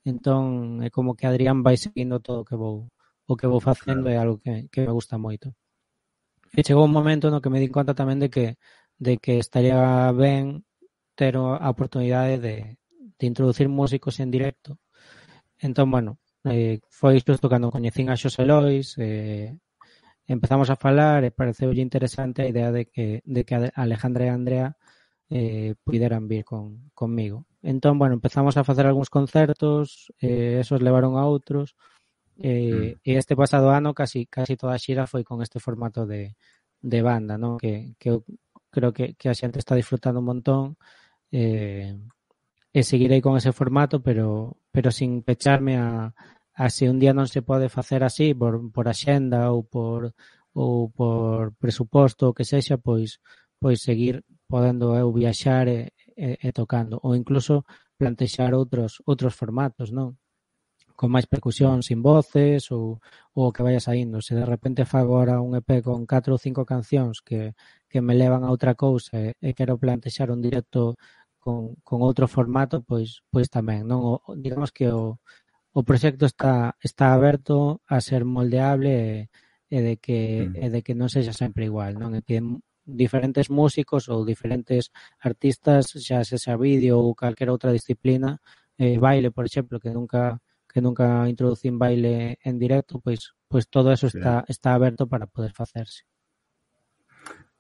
B: Entón é como que Adrián vai seguindo todo o que vou facendo,
A: Claro.
B: é algo que me gusta moito. E chegou un momento no que me di conta tamén de que estaría ben ter a oportunidade de introducir músicos en directo. Entón, bueno, foi xusto cando coñecín a Xosé Lois, empezamos a falar e pareceulle interesante a idea de que Alejandra e Andrea puderan vir conmigo. Entón, bueno, empezamos a facer algúns concertos, esos levaron a outros, e este pasado ano casi toda a xira foi con este formato de banda, non? Que eu creo que a xente está disfrutando un montón, e seguirei con ese formato, pero sin pecharme a se un día non se pode facer así por axenda ou por presuposto, o que sexa, pois seguir podendo eu viaxar e tocando, ou incluso plantexar outros formatos, non? Con máis percusión sin voces ou que vaya saindo. Se de repente fago agora un EP con 4 ou 5 cancións que me levan a outra cousa e quero plantexar un directo con outro formato, pois tamén, non? Digamos que o proxecto está aberto a ser moldeable e de que non sexa sempre igual, non? E que diferentes músicos ou diferentes artistas, xa sexa vídeo ou calquera outra disciplina, baile, por exemplo, que nunca introducín baile en directo, pois todo eso
A: Sí.
B: está aberto para poder facerse.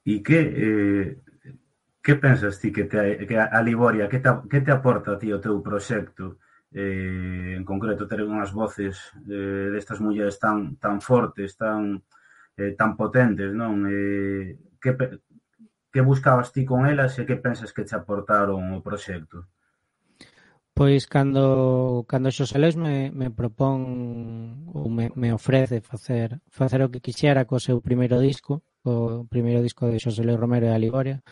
A: E que pensas ti que a Liboria, que te aporta a ti o teu proxecto? En concreto, ter unhas voces destas mulleres tan fortes, tan potentes, non? Que buscabas ti con elas e que pensas que te aportaron o proxecto?
B: Pois cando Xosé Luis me propón ou me ofrece facer o que quixera co seu primeiro disco, o primeiro disco de Xosé Luis Romero e a Liboria,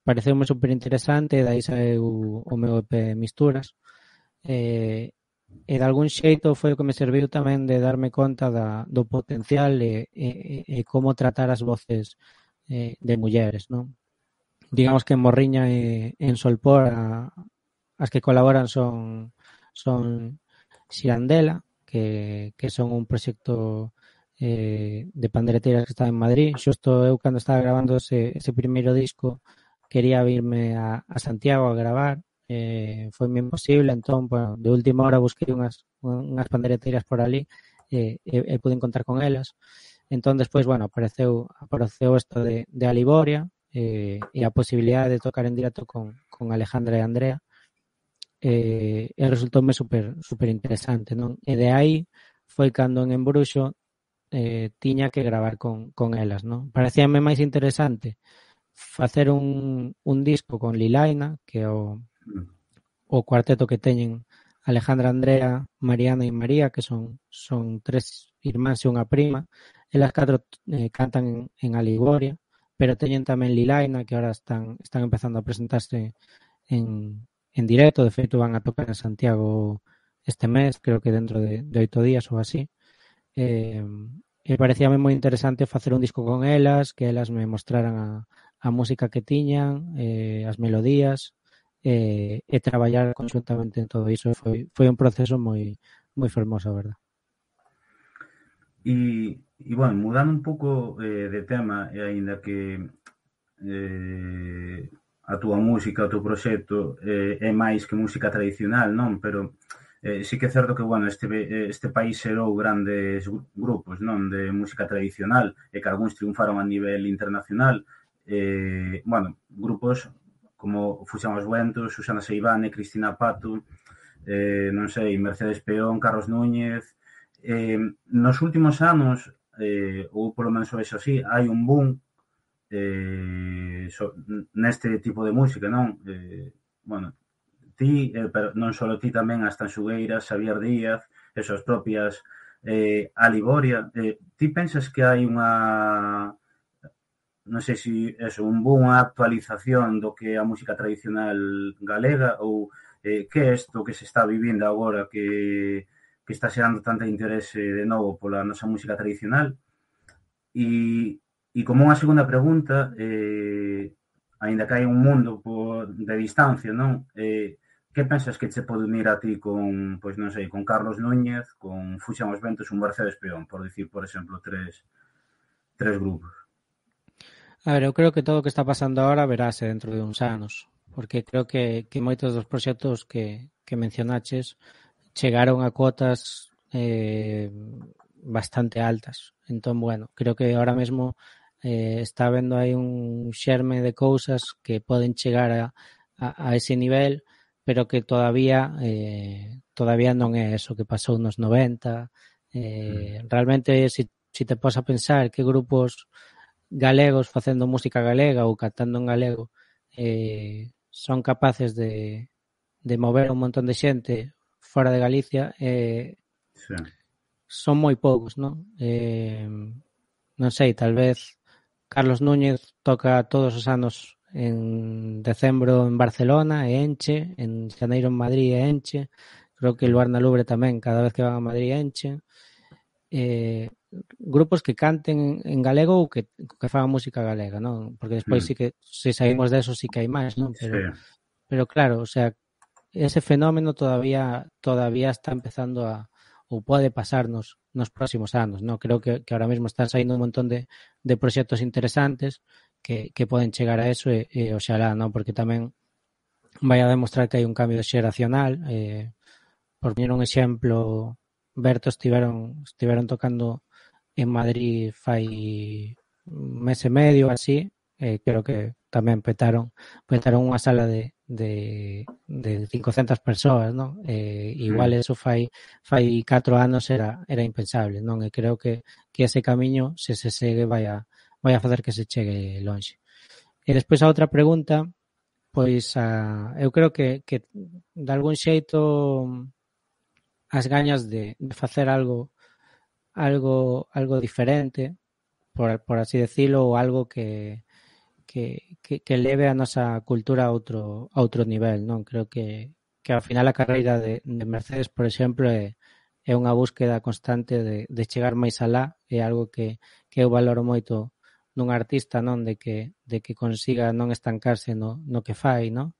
B: pareceume super interesante, e dai saeu o meu EP Misturas, e de algún xeito foi o que me serviu tamén de darme conta do potencial e como tratar as voces de mulleres, non? Digamos que en Morriña e en Solpor as que colaboran son Xirandela, que son un proxecto de pandereteiras que está en Madrid. Xusto eu cando estaba grabando ese primeiro disco quería virme a Santiago a gravar, foi imposible, entón, bueno, de última hora busquei unhas pandereteiras por ali e pude contar con elas. Entón, despois, bueno, apareceu isto de Aliboria, e a posibilidade de tocar en directo con Alejandra e Andrea, e resultoume super interesante, non? E de aí foi cando en Embruxo tiña que gravar con elas, non? Parecíame máis interesante facer un disco con Lilaina, que é o cuarteto que teñen Alejandra, Andrea, Mariana e María, que son tres irmáns e unha prima. Elas catro cantan en Aligoria, pero teñen tamén Lilaina, que ahora están empezando a presentarse en directo. De feito, van a tocar en Santiago este mes, creo que dentro de 8 días ou así. E parecíame moi interesante facer un disco con elas, que elas me mostraran a música que tiñan, as melodías, e traballar conxuntamente en todo iso. Foi un proceso moi fermoso, a verdad.
A: E bueno, mudando un pouco de tema, e aínda que a túa música, o teu proxecto é máis que música tradicional, non? Pero sí que é certo que, bueno, este país xerou grandes grupos, non? De música tradicional e que algúns triunfaron a nivel internacional. Bueno, grupos como Fuxan os Ventos, Susana Seivane, Cristina Pato, non sei, Mercedes Peón, Carlos Núñez. Nos últimos anos, ou polo menos o vexo así, hai un boom neste tipo de música, non? Bueno, ti, pero non só ti, tamén as Tanxugueiras, Xavier Díaz, eso, as propias Aligoria. Ti pensas que hai unha, non sei se eso, un boom, unha actualización do que é a música tradicional galega, ou que é isto que se está vivindo agora que está xerando tanta interese de novo pola nosa música tradicional? E como unha segunda pregunta, aínda que hai un mundo de distancia, non? Que pensas que che pode unir a ti con, pois non sei, con Carlos Núñez, con Fuxan os Ventos, un Mercedes Peón, por dicir, por exemplo, tres grupos?
B: A ver, eu creo que todo o que está pasando ahora verase dentro de uns anos, porque creo que moitos dos proxectos que mencionaches chegaron a cotas bastante altas. Entón, bueno, creo que ahora mesmo está vendo aí un xerme de cousas que poden chegar a ese nivel, pero que todavía non é eso que pasou nos 90. Realmente, se te pos a pensar que grupos galegos facendo música galega ou cantando en galego son capaces de mover un montón de xente fora de Galicia,
A: Sí.
B: Son moi poucos, non? Non sei, tal vez Carlos Núñez toca todos os anos en decembro en Barcelona e enche, en xaneiro en Madrid e enche, creo que Luar na Lubre tamén, cada vez que van a Madrid enche. Grupos que canten en galego ou que fagan música galega, non? Porque despois sí que, se saímos de eso, sí que hai máis, non? Pero claro, o sea, ese fenómeno todavía está empezando ou pode pasarnos nos próximos anos, non? Creo que ahora mesmo están saindo un montón de proxectos interesantes que poden chegar a eso e oxalá, non? Porque tamén vai a demostrar que hai un cambio xeracional. Por poñer un exemplo, Berto estiveron tocando en Madrid fai un mes e medio así, creo que tamén petaron unha sala de 500 persoas, non? Igual eso fai 4 anos era impensable, non? E creo que ese camiño, se segue, vai a facer que se chegue lonxe. E despois a outra pregunta, pois eu creo que de algún xeito as gañas de facer algo diferente, por así decirlo, ou algo que leve a nosa cultura a outro nivel, non? Creo que ao final a carreira de Mercedes, por exemplo, é unha búsqueda constante de chegar máis alá, é algo que eu valoro moito nun artista, non? De que consiga non estancarse no que fai, non?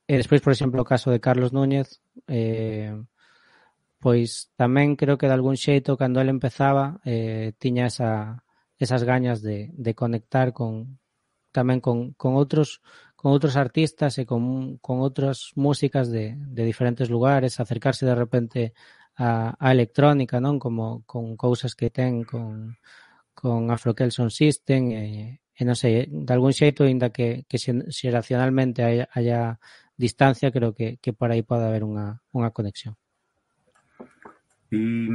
B: E despois, por exemplo, o caso de Carlos Núñez, pois tamén creo que de algún xeito, cando ele empezaba, tiña esas gañas de conectar tamén con outros artistas e con outras músicas de diferentes lugares, acercarse de repente a electrónica, non? Como con cousas que ten con Afro Kelson System e non sei, de algún xeito, ainda que xeracionalmente haya distancia, creo que por aí pode haber unha conexión.
A: E,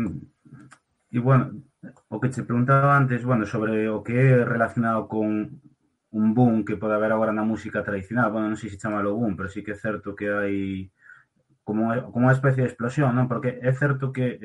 A: e bueno, o que te preguntaba antes, bueno, sobre o que é relacionado con un boom que pode haber agora na música tradicional, bueno, non sei se chamalo boom, pero sí que é certo que hai como unha especie de explosión, non? Porque é certo que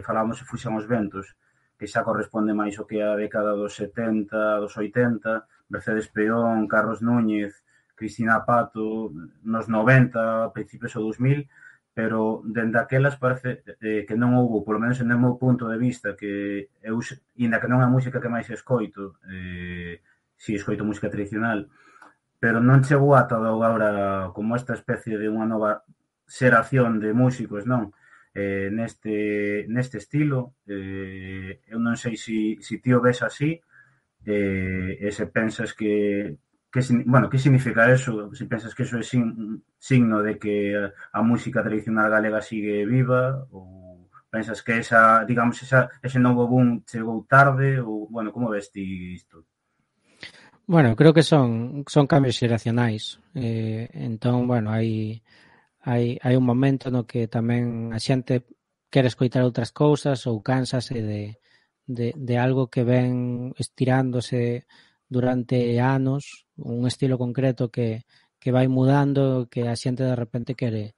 A: falábamos se fuxan os ventos, que xa corresponde máis o que a década dos 70, dos 80, Mercedes Peón, Carlos Núñez, Cristina Pato, nos 90, principios do 2000, pero dende aquelas parece que non houve, polo menos en o meu punto de vista, que eu, inda que non é a música que máis escoito, si escoito música tradicional, pero non chegou ata agora como esta especie de unha nova xeración de músicos, non? Neste estilo, eu non sei si ti o ves así, e se pensas bueno, que significa eso? Se pensas que eso é signo de que a música tradicional galega sigue viva, ou pensas que digamos, ese novo boom chegou tarde, ou, bueno, como ves ti isto?
B: Bueno, creo que son cambios xeracionais. Entón, bueno, hai un momento no que tamén a xente quere escoitar outras cousas ou cánsase de algo que ven estirándose durante anos, un estilo concreto que vai mudando, que a xente de repente quere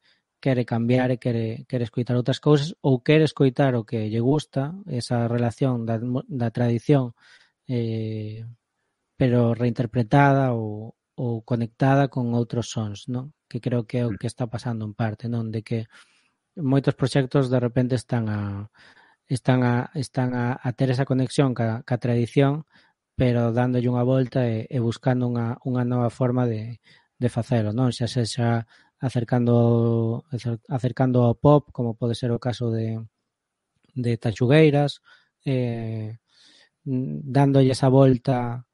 B: cambiar e quere escoitar outras cousas ou quere escoitar o que lle gusta, esa relación da tradición pero reinterpretada ou conectada con outros sons, non? Que creo que é o que está pasando en parte, non? De que moitos proxectos de repente están a ter esa conexión ca tradición, pero dándolle unha volta e buscando unha nova forma de facelo, non? Xa sexa acercando ao pop, como pode ser o caso de Tachugueiras, dándolle esa volta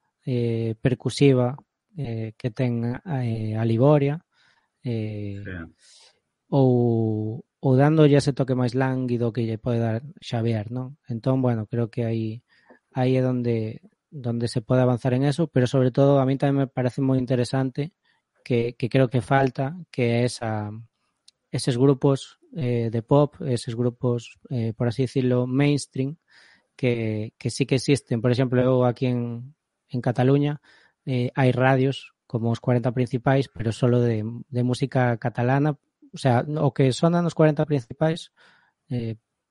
B: percusiva que ten a Liboria,
A: Sí.
B: ou dándolle ese toque máis lánguido que lle pode dar Xavier, non? Entón, bueno, creo que aí é donde se pode avanzar en eso, pero sobre todo a mí tamén me parece moi interesante que creo que falta, que é eses grupos de pop, eses grupos, por así decirlo, mainstream, que sí que existen. Por exemplo, eu aquí en Cataluña hai radios como os 40 principais, pero solo de música catalana. O sea, o que sonan os 40 principais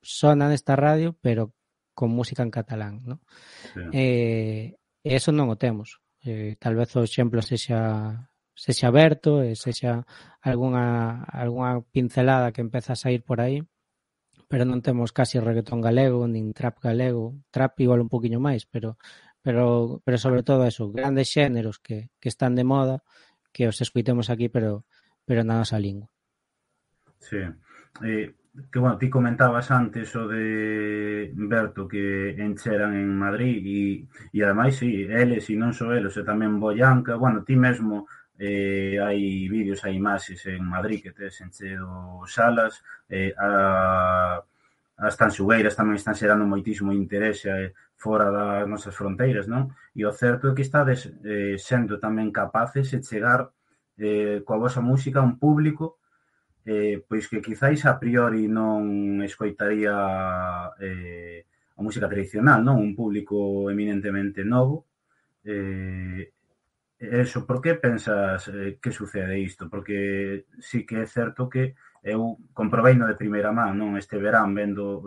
B: sonan esta radio, pero con música en catalán, ¿no?
A: Sí.
B: Eso non o temos. Tal vez o exemplo sexa aberto, sexa algunha pincelada que empeza a sair por aí, pero non temos casi reggaetón galego, nin trap galego, trap igual un poquinho máis, pero sobre todo eso, grandes xéneros que están de moda, que os escoitemos aquí, pero na nosa lingua.
A: Sí. Que, bueno, ti comentabas antes o de Berto que encheran en Madrid e ademais, sí, eles e non só eles, e tamén Boyanca, bueno, ti mesmo hai vídeos, hai imaxes en Madrid que tes encheo salas, as tanxugueiras tamén están xerando moitísimo interese fora das nosas fronteiras, non? E o certo é que estades sendo tamén capaces de chegar coa vosa música a un público pois que quizáis a priori non escoitaría a música tradicional, non? Un público eminentemente novo. Eso, por que pensas que sucede isto? Porque sí que é certo que eu comproveino de primeira man, non? Este verán vendo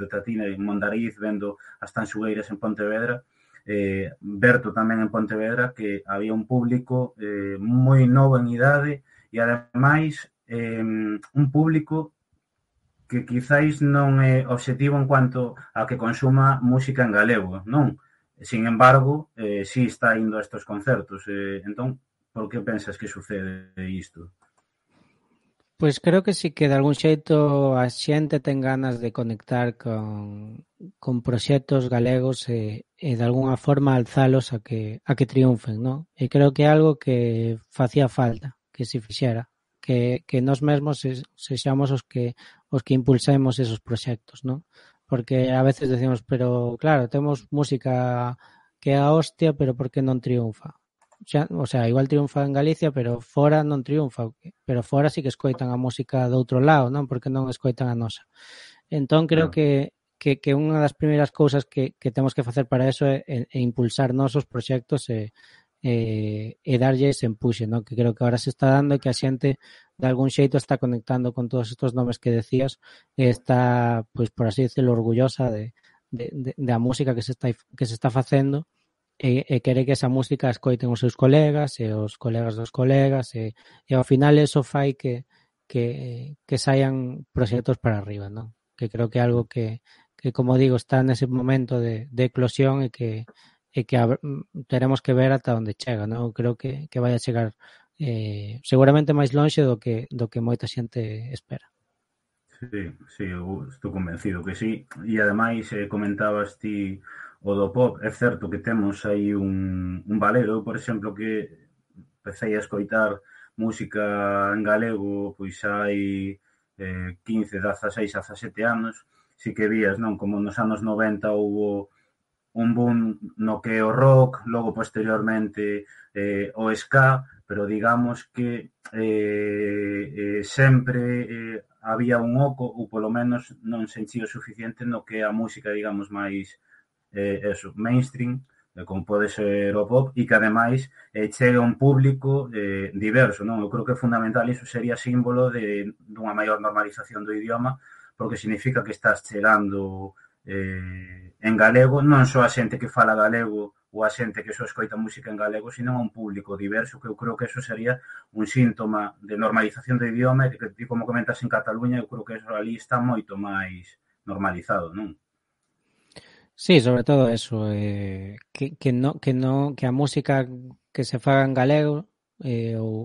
A: Tatina en Mondariz, vendo as tanxugueiras en Pontevedra, Berto tamén en Pontevedra, que había un público moi novo en idade e ademais un público que quizáis non é obxectivo en cuanto a que consuma música en galego, non? Sin embargo, si está indo a estes concertos. Entón, por que pensas que sucede isto?
B: Pois creo que sí que de algún xeito a xente ten ganas de conectar con proxectos galegos e de algunha forma alzalos a que triunfen, non? E creo que é algo que facía falta que se fixera, que nós mesmos sexamos os que impulsemos esos proxectos, non? Porque a veces decimos, pero claro, temos música que é a hostia, pero por que non triunfa? O sea, igual triunfa en Galicia, pero fora non triunfa, pero fora sí que escoitan a música do outro lado, non? Porque non escoitan a nosa. Entón creo
A: Claro.
B: que unha das primeiras cousas que temos que facer para eso é impulsar nosos proxectos e darlle ese empuxe, ¿no? Que creo que ahora se está dando e que a xente de algún xeito está conectando con todos estos nomes que decías e está, pois por así decirlo, orgullosa da música que se está facendo e quere que esa música escoiten os seus colegas e os colegas dos colegas e ao final eso fai que saian proxectos para arriba, non? Que creo que é algo que como digo, está nese momento de eclosión e que teremos que ver ata onde chega, non? Creo que vai a chegar seguramente máis lonxe do que moita xente espera.
A: Sí, sí, eu estou convencido que sí. E ademais comentabas ti o do pop, é certo que temos aí un valero, por exemplo, que empecé a escoitar música en galego pois hai 15, 16, 17 anos. Si que vías, non? Como nos anos 90 houbo un boom no que o rock, logo posteriormente o ska, pero digamos que sempre había un oco, ou polo menos non se enchía o suficiente no que a música, digamos, máis eso, mainstream, como pode ser o pop, e que ademais chega a un público diverso, non? Eu creo que é fundamental, iso sería símbolo dunha maior normalización do idioma, porque significa que estás chegando en galego, non só a xente que fala galego ou a xente que só escoita música en galego, sino a un público diverso, que eu creo que eso sería un síntoma de normalización do idioma, e que como comentas en Cataluña, eu creo que eso ali está moito máis normalizado, non?
B: Sí, sobre todo eso, que a música que se faga en galego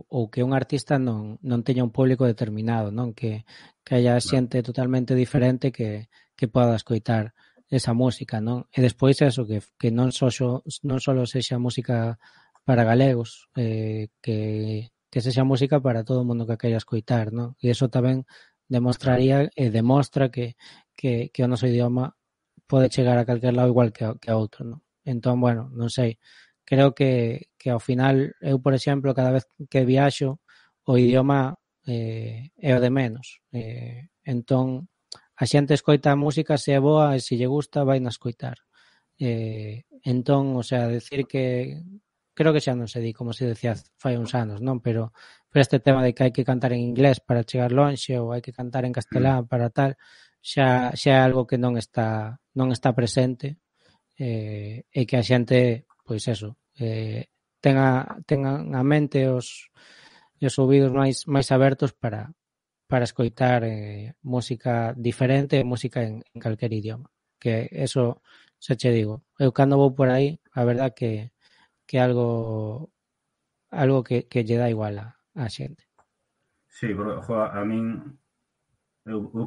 B: ou que un artista non teña un público determinado, non? Que haya
A: Claro.
B: xente totalmente diferente que poda escoitar esa música, non? E despois eso, que non só sexa música para galegos, que sexa música para todo o mundo que queira escoitar, non? E iso tamén
A: Claro.
B: demostraría e demostra que o noso idioma pode chegar a calquer lado igual que a outro, non? Entón, bueno, non sei. Creo que ao final, eu, por exemplo, cada vez que viaxo, o idioma é o de menos. Entón, a xente escoita a música se é boa e se lle gusta, vai na escoitar. Entón, o sea, decir que creo que xa non se di como se decía fai uns anos, non? Pero este tema de que hai que cantar en inglés para chegar lonxe ou hai que cantar en castelán para tal, xa é algo que non está presente e que a xente, pois eso, tengan a mente e os ouvidos máis abertos para escoitar música diferente e música en calquer idioma. Que eso, xa che digo, eu cando vou por aí, a verdad que algo que lle dá igual a xente.
A: Sí, pero, jo, a min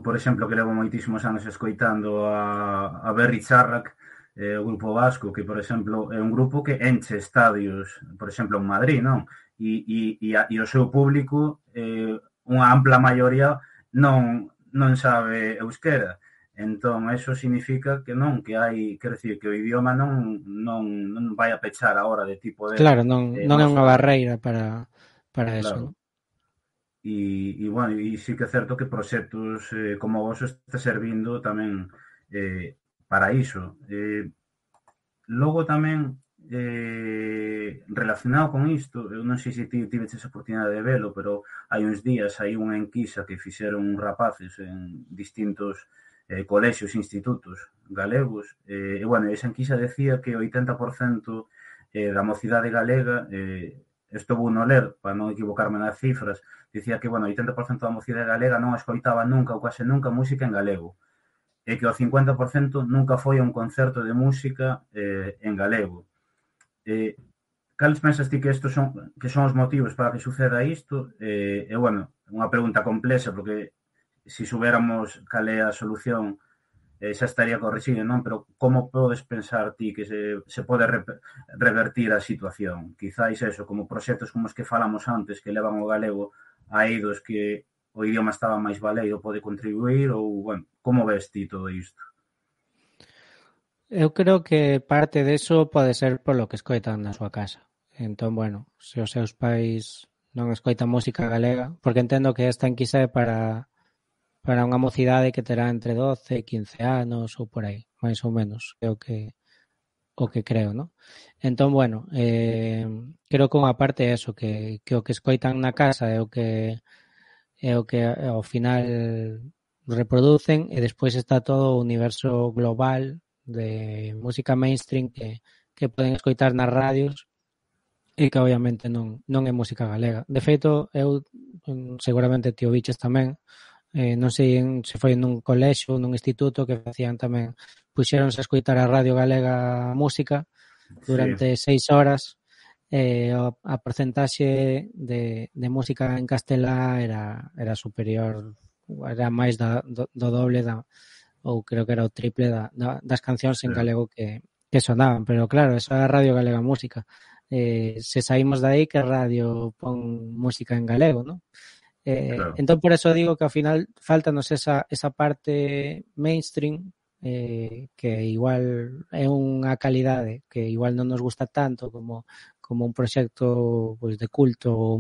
A: por exemplo, que levo moitísimos anos escoitando a Berri Charrac, o grupo vasco, que, por exemplo, é un grupo que enche estadios, por exemplo, en Madrid, non? E o seu público, unha ampla maioría, non sabe euskera. Entón, eso significa que non, que hai, quero dicir, que o idioma non vai a pechar a hora de ti poder
B: Claro, non é
A: máis
B: unha barreira para eso,
A: claro.
B: non?
A: Bueno, e sí que é certo que proxectos como o vosso está servindo tamén para iso. Logo tamén, relacionado con isto, eu non sei se ti tiveches a oportunidade de velo, pero hai uns días hai unha enquisa que fixeron rapaces en distintos colexios e institutos galegos, e, bueno, esa enquisa decía que o 80% da mocidade galega, isto vou non ler para non equivocarme nas cifras, dicía que, bueno, o 80% da mocidade galega non escoitaba nunca ou quase nunca música en galego, e que o 50% nunca foi a un concerto de música en galego. Cales pensas ti que estos son os motivos para que suceda isto? Bueno, unha pregunta complexa, porque se souberamos cal é a solución xa estaría corrixido, non? Pero como podes pensar ti que se pode revertir a situación? Quizáis eso, como proxectos como os que falamos antes, que levan o galego a eidos que o idioma estaba máis baleiro, pode contribuir, ou, bueno, como ves ti todo isto?
B: Eu creo que parte deso pode ser polo que escoitan na súa casa. Entón, bueno, se os seus pais non escoitan música galega, porque entendo que esta enquisa é para unha mocidade que terá entre 12 e 15 anos ou por aí, máis ou menos, é o que creo, ¿no? Entón, bueno, creo que unha parte é eso, que o que escoitan na casa é o que ao final reproducen, e despois está todo o universo global de música mainstream que poden escoitar nas radios e que obviamente non é música galega. De feito, eu seguramente ti o biches tamén, non sei se foi nun colexo ou nun instituto que facían tamén, puxéronse a escoitar a Radio Galega Música durante 6 horas, a porcentaxe de música en castelá era superior, era máis do doble ou creo que era o triple das cancións en galego que sonaban, pero claro, eso é a Radio Galega Música. Se saímos de aí, que radio pon música en galego, ¿no? Claro. Entón, por eso digo que ao final faltanos esa parte mainstream, que igual é unha calidade que igual non nos gusta tanto como un proxecto pois de culto ou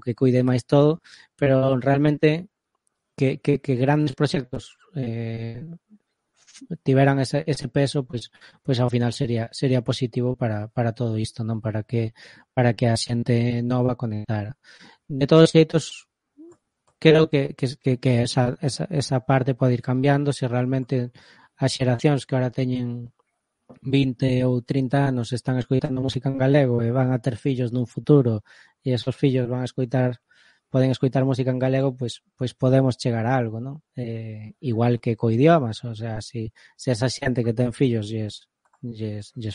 B: que cuide máis todo, pero realmente que grandes proxectos tiveran ese peso, pois ao final sería positivo para todo isto, non, para que a xente nova conectara. De todos os xeitos, creo que esa parte pode ir cambiando se realmente as xeracións que ahora teñen 20 ou 30 anos están escoitando música en galego e van a ter fillos nun futuro e esos fillos poden escoitar música en galego, pois podemos chegar a algo, non? Igual que co idiomas, o sea, se esa xente que ten fillos lles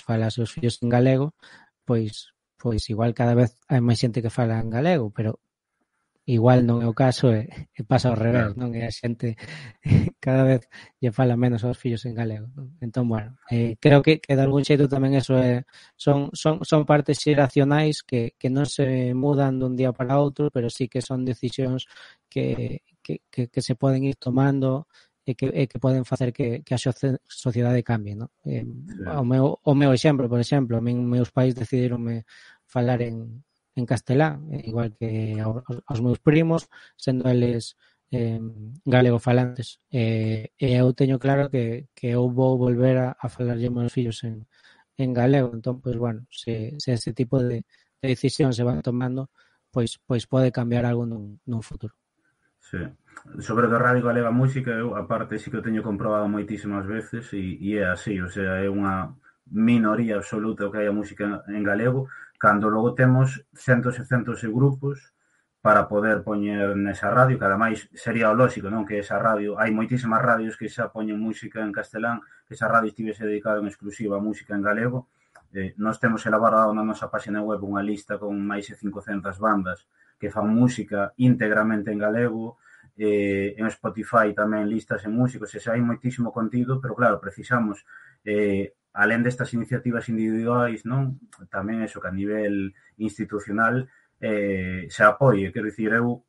B: fala aos seus fillos en galego, pois igual cada vez hai máis xente que fala en galego, pero igual non é o caso e pasa ao revés, non? E a xente cada vez lle fala menos aos fillos en galego, non? Entón, bueno, creo que de algún xeito tamén eso son partes xeracionais que non se mudan dun día para outro, pero sí que son decisións que se poden ir tomando e que poden facer que a sociedade cambie, non? O meu exemplo, por exemplo, a min meus pais decidironme falar en castelán, igual que aos meus primos, sendo eles galegofalantes. E eu teño claro que eu vou volver a falarlle aos meus fillos en galego. Entón, pois, bueno, se ese tipo de decisións se van tomando, pois pode cambiar algo nun futuro.
A: Sí. Sobre a Radio Galega Música, eu, aparte, sí que o teño comprobado moitísimas veces e é así, o sea, é unha minoría absoluta o que hai a música en galego, cando logo temos centos e centos de grupos para poder poñer nesa radio, que ademais sería o lógico, non? Que esa radio, hai moitísimas radios que xa poñen música en castelán, que esa radio estivese dedicada en exclusiva a música en galego. Nós temos elaborado na nosa página web unha lista con máis de 500 bandas que fan música íntegramente en galego, en Spotify tamén listas en músicos, e xa hai moitísimo contido, pero claro, precisamos alén destas iniciativas individuais, non? Tamén eso que a nivel institucional se apoie. Quero dicir, eu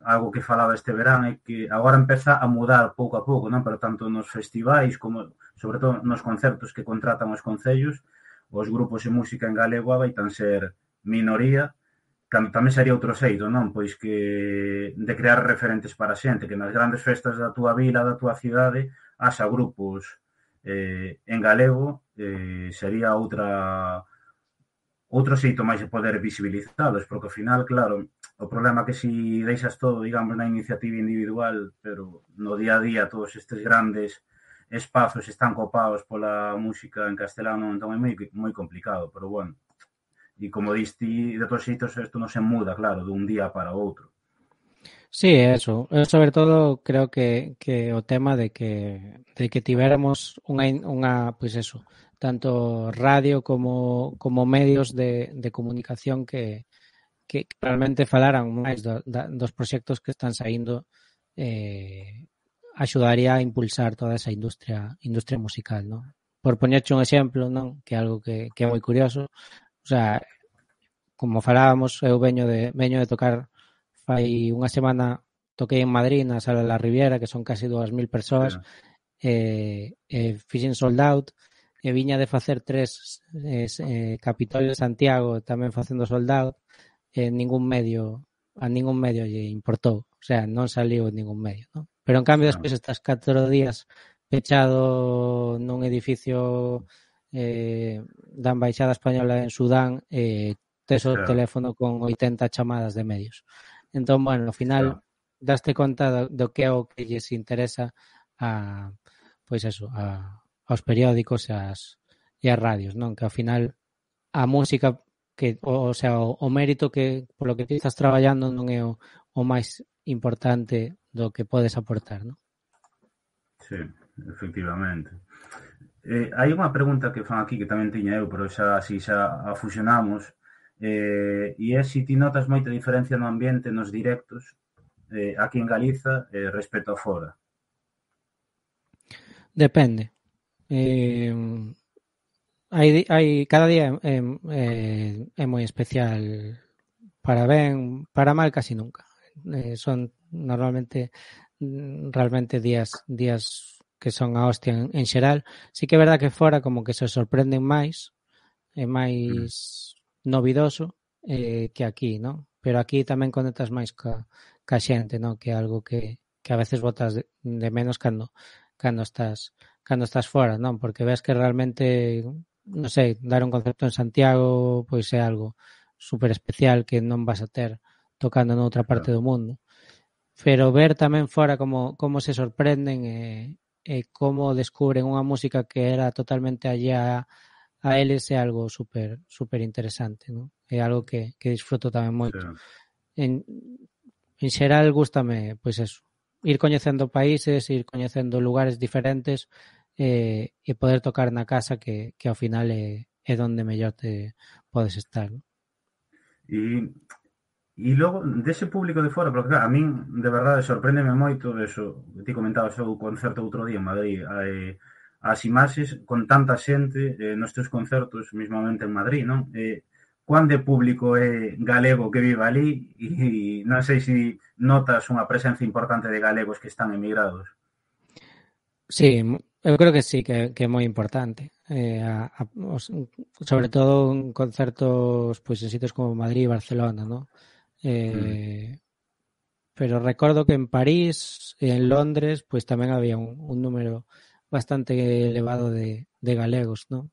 A: algo que falaba este verán é que agora empeza a mudar pouco a pouco, non? Pero tanto nos festivais como, sobre todo, nos concertos que contratan os concellos, os grupos de música en galego vaitan ser minoría, cando tamén sería outro xeito, non? Pois que de crear referentes para a xente, que nas grandes festas da túa vila, da túa cidade, haxa grupos en galego, sería outro xeito máis de poder visibilizados, porque ao final, claro, o problema é que si deixas todo, digamos, na iniciativa individual, pero no día a día todos estes grandes espazos están copados pola música en castelano, entón é moi complicado, pero bueno, e como diste, de todos xeitos, isto non se muda, claro, dun día para outro.
B: Sí, eso. Eu, sobre todo, creo que o tema de que tivéramos unha pois eso, tanto radio como medios de comunicación que realmente falaran máis dos proxectos que están saindo, axudaría a impulsar toda esa industria musical, non? Por poñerche un exemplo, non? Que é algo que é moi curioso. O sea, como falábamos, eu veño de tocar fai unha semana, toquei en Madrid na Sala de la Riviera, que son casi 2.000 persoas, fixen sold out, e viña de facer 3 Capitolio de Santiago tamén facendo sold out, ningún medio a ningún medio lle importou, o sea, non saliu en ningún medio, non? Pero en cambio despois estás 4 días pechado nun edificio da Embaixada Española en Sudán, tes o teléfono con 80 chamadas de medios. Entón, bueno, ao final daste conta do que é o que lles interesa a, pois eso, aos periódicos e as radios, non? Que ao final a música que, o sea, o mérito que polo que ti estás traballando non é o máis importante do que podes aportar, non?
A: Sí, efectivamente. Hai unha pregunta que fan aquí que tamén tiña eu, pero xa así xa a fusionamos, e é se ti notas moita diferencia no ambiente nos directos aquí en Galiza respecto a fora.
B: Depende. Hai cada día é moi especial, para ben, para mal casi nunca. Son normalmente realmente días que son a hostia en xeral. Sí que é verdad que fora como que se sorprenden máis, é máis novidoso que aquí, non? Pero aquí tamén conectas máis ca xente, non? Que é algo que a veces botas de menos cando estás fora, non? Porque ves que realmente, non sei, dar un concerto en Santiago pois é algo super especial que non vas a ter tocando noutra parte do mundo. Pero ver tamén fora como se sorprenden e como descubren unha música que era totalmente allá a eles é algo super interesante, non? É algo que disfruto tamén moito. En xeral gústame, pois eso, ir coñecendo países, ir coñecendo lugares diferentes e poder tocar na casa que ao final é donde mellor te podes estar, non?
A: E logo, dese público de fora, porque claro, a min, de verdade, sorpréndeme moito eso, ti comentabas o concerto outro día en Madrid, as imaxes con tanta xente nos teus concertos, mismamente en Madrid, non? Cuán de público é galego que vive ali e non sei se notas unha presencia importante de galegos que están emigrados.
B: Sí, eu creo que sí, que é moi importante. Sobre todo en concertos pois en sitios como Madrid e Barcelona, non? Pero recordo que en París e en Londres pois tamén había un número bastante elevado de galegos, non?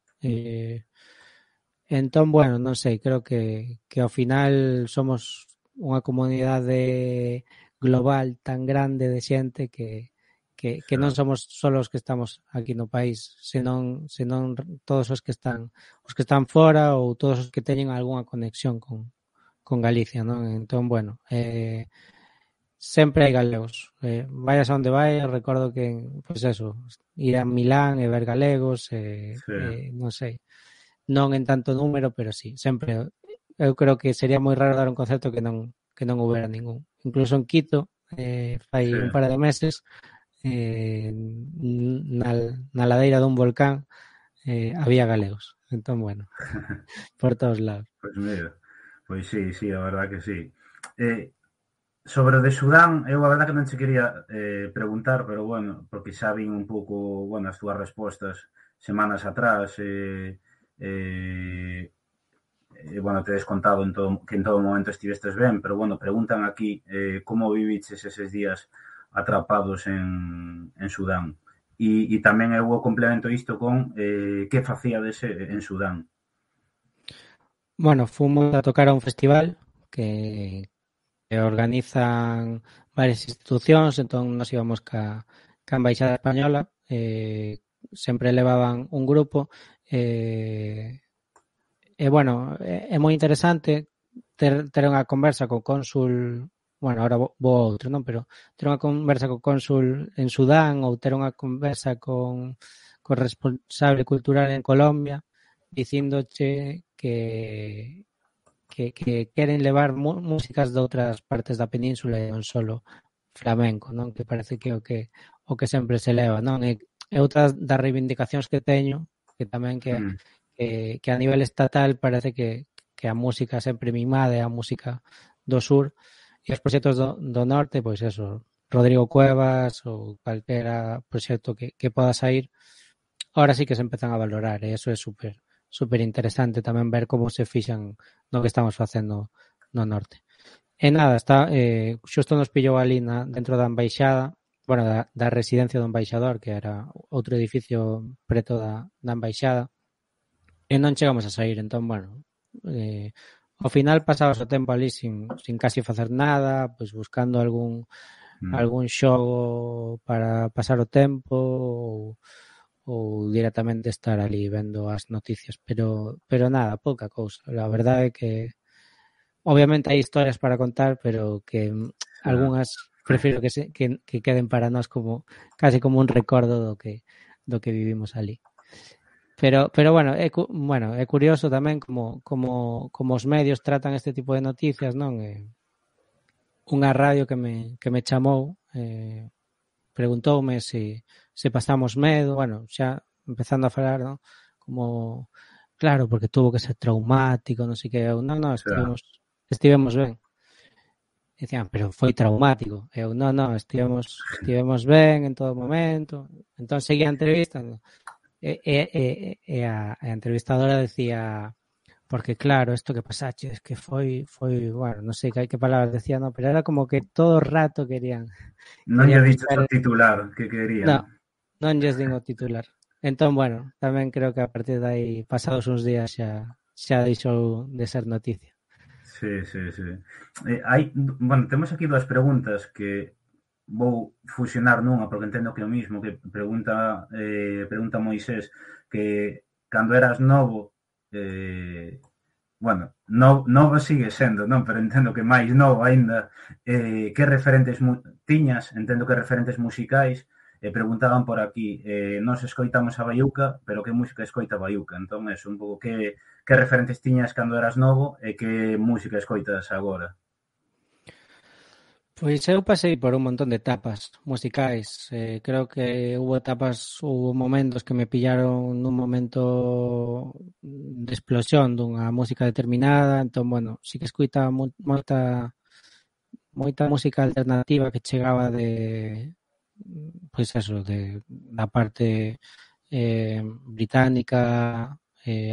B: Entón, bueno, non sei, creo que ao final somos unha comunidade global tan grande de xente que non somos só os que estamos aquí no país, senón todos os que están fora ou todos os que teñen algunha conexión con Galicia, non? Entón, bueno, sempre hai galegos. Vayas a onde vayas, recordo que, pois eso, ir a Milán e ver galegos, non sei, non en tanto número, pero sí, sempre. Eu creo que sería moi raro dar un concerto que non houbera ningún. Incluso en Quito, fai un par de meses, na ladeira dun volcán había galegos. Entón, bueno, por todos lados.
A: Pois mira, pois sí, a verdad que sí. Sobre o de Sudán, eu a verdad que non che quería preguntar, pero bueno, porque xa vin un pouco, bueno, as túas respostas semanas atrás bueno, te des contado que en todo momento estivestes ben, pero bueno, preguntan aquí como viviches eses días atrapados en Sudán. E tamén eu complemento isto con que facíades en Sudán.
B: Bueno, fomos a tocar a un festival que organizan varias institucións, entón nos íbamos ca Embaixada Española, sempre levaban un grupo e bueno, é moi interesante ter unha conversa co cónsul, bueno, ahora vou a outro, non? Pero ter unha conversa co cónsul en Sudán ou ter unha conversa con responsable cultural en Colombia dicíndoche que queren levar músicas de outras partes da península e non solo flamenco, non? Que parece que o que sempre se leva, non? E outras das reivindicacións que teño, que tamén que a nivel estatal parece que a música sempre mimada é a música do sur e os proxectos do norte, pois eso, Rodrigo Cuevas ou calquera proxecto que poda sair, ahora sí que se empezan a valorar e eso é super interesante tamén ver como se fixan no que estamos facendo no norte. E nada, está, xusto nos pillou ali dentro da embaixada, bueno, da residencia do embaixador, que era outro edificio preto da embaixada, e non chegamos a sair, entón, bueno, ao final pasabas o tempo ali sin casi facer nada, pois buscando algún xogo para pasar o tempo ou directamente estar ali vendo as noticias, pero nada, pouca cousa. A verdade é que obviamente hai historias para contar, pero que algunhas prefiro que queden para nós como casi como un recordo do que vivimos ali. Pero bueno, é curioso tamén como os medios tratan este tipo de noticias, non? Unha radio que me chamou preguntoume se pasamos medo, bueno, xa empezando a falar, non? Como, claro, porque tuvo que ser traumático, non sei que, non, estivemos ben. Decían, pero foi traumático. Eu, non, estivemos ben en todo momento. Entón seguía a entrevista, e a entrevistadora decía, porque claro, isto que pasache es que foi, bueno, non sei que palabras decía, no, pero era como que todo o rato querían
A: Non lle dicho o titular que querían.
B: Non lles din o titular. Entón, bueno, tamén creo que a partir de aí, pasados uns días, xa deixou de ser noticia.
A: Sí. Bueno, temos aquí dúas preguntas que vou fusionar nunha, porque entendo que é o mismo, que pregunta Moisés, que cando eras novo, bueno, novo sigue sendo, non? Pero entendo que máis novo aínda, que referentes tiñas, entendo que referentes musicais, preguntaban por aquí, nos escoitamos a Baiuca, pero que música escoita Baiuca? Entón, eso, un pouco que referentes tiñas cando eras novo e que música escoitas agora?
B: Pois eu pasei por un montón de etapas musicais. Creo que hubo momentos que me pillaron nun momento de explosión dunha música determinada. Entón, bueno, sí que escoitaba moita música alternativa que chegaba pois eso, da parte británica,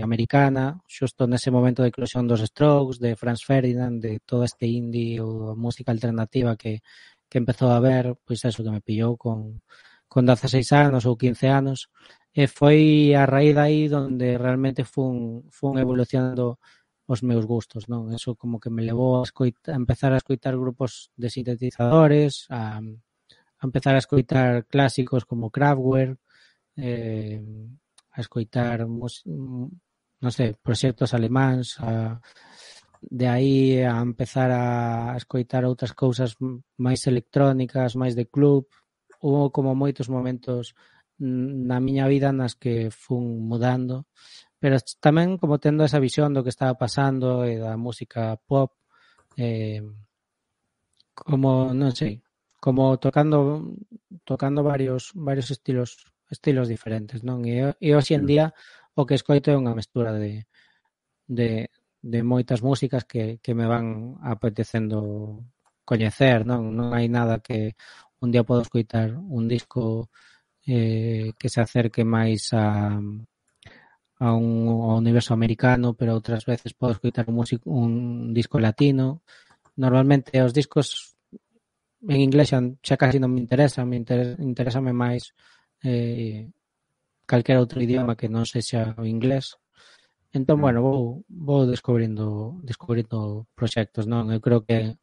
B: americana, xusto nese momento de eclosión dos Strokes, de Franz Ferdinand, de todo este indie ou música alternativa que empezou a ver, pois eso que me pillou con 16 anos ou 15 anos, e foi a raíz aí donde realmente fun evolucionando os meus gustos, non? Eso como que me levou a empezar a escoitar grupos de sintetizadores, a empezar a escoitar clásicos como Kraftwerk, a escoitar, non sei, proxectos alemáns, de aí a empezar a escoitar outras cousas máis electrónicas, máis de club. Hubo como moitos momentos na miña vida nas que fun mudando, pero tamén como tendo esa visión do que estaba pasando e da música pop, como, non sei, como tocando varios estilos diferentes, non? E hoxe en día o que escoito é unha mestura de moitas músicas que me van apetecendo coñecer, non? Non hai nada que un día podo escoitar un disco que se acerque máis ao universo americano, pero outras veces podo escoitar un disco latino. Normalmente os discos en inglés xa casi non me interesan, interésame máis calquera outro idioma que non sexa o inglés. Entón, bueno, vou descubrindo proxectos, non? Eu creo que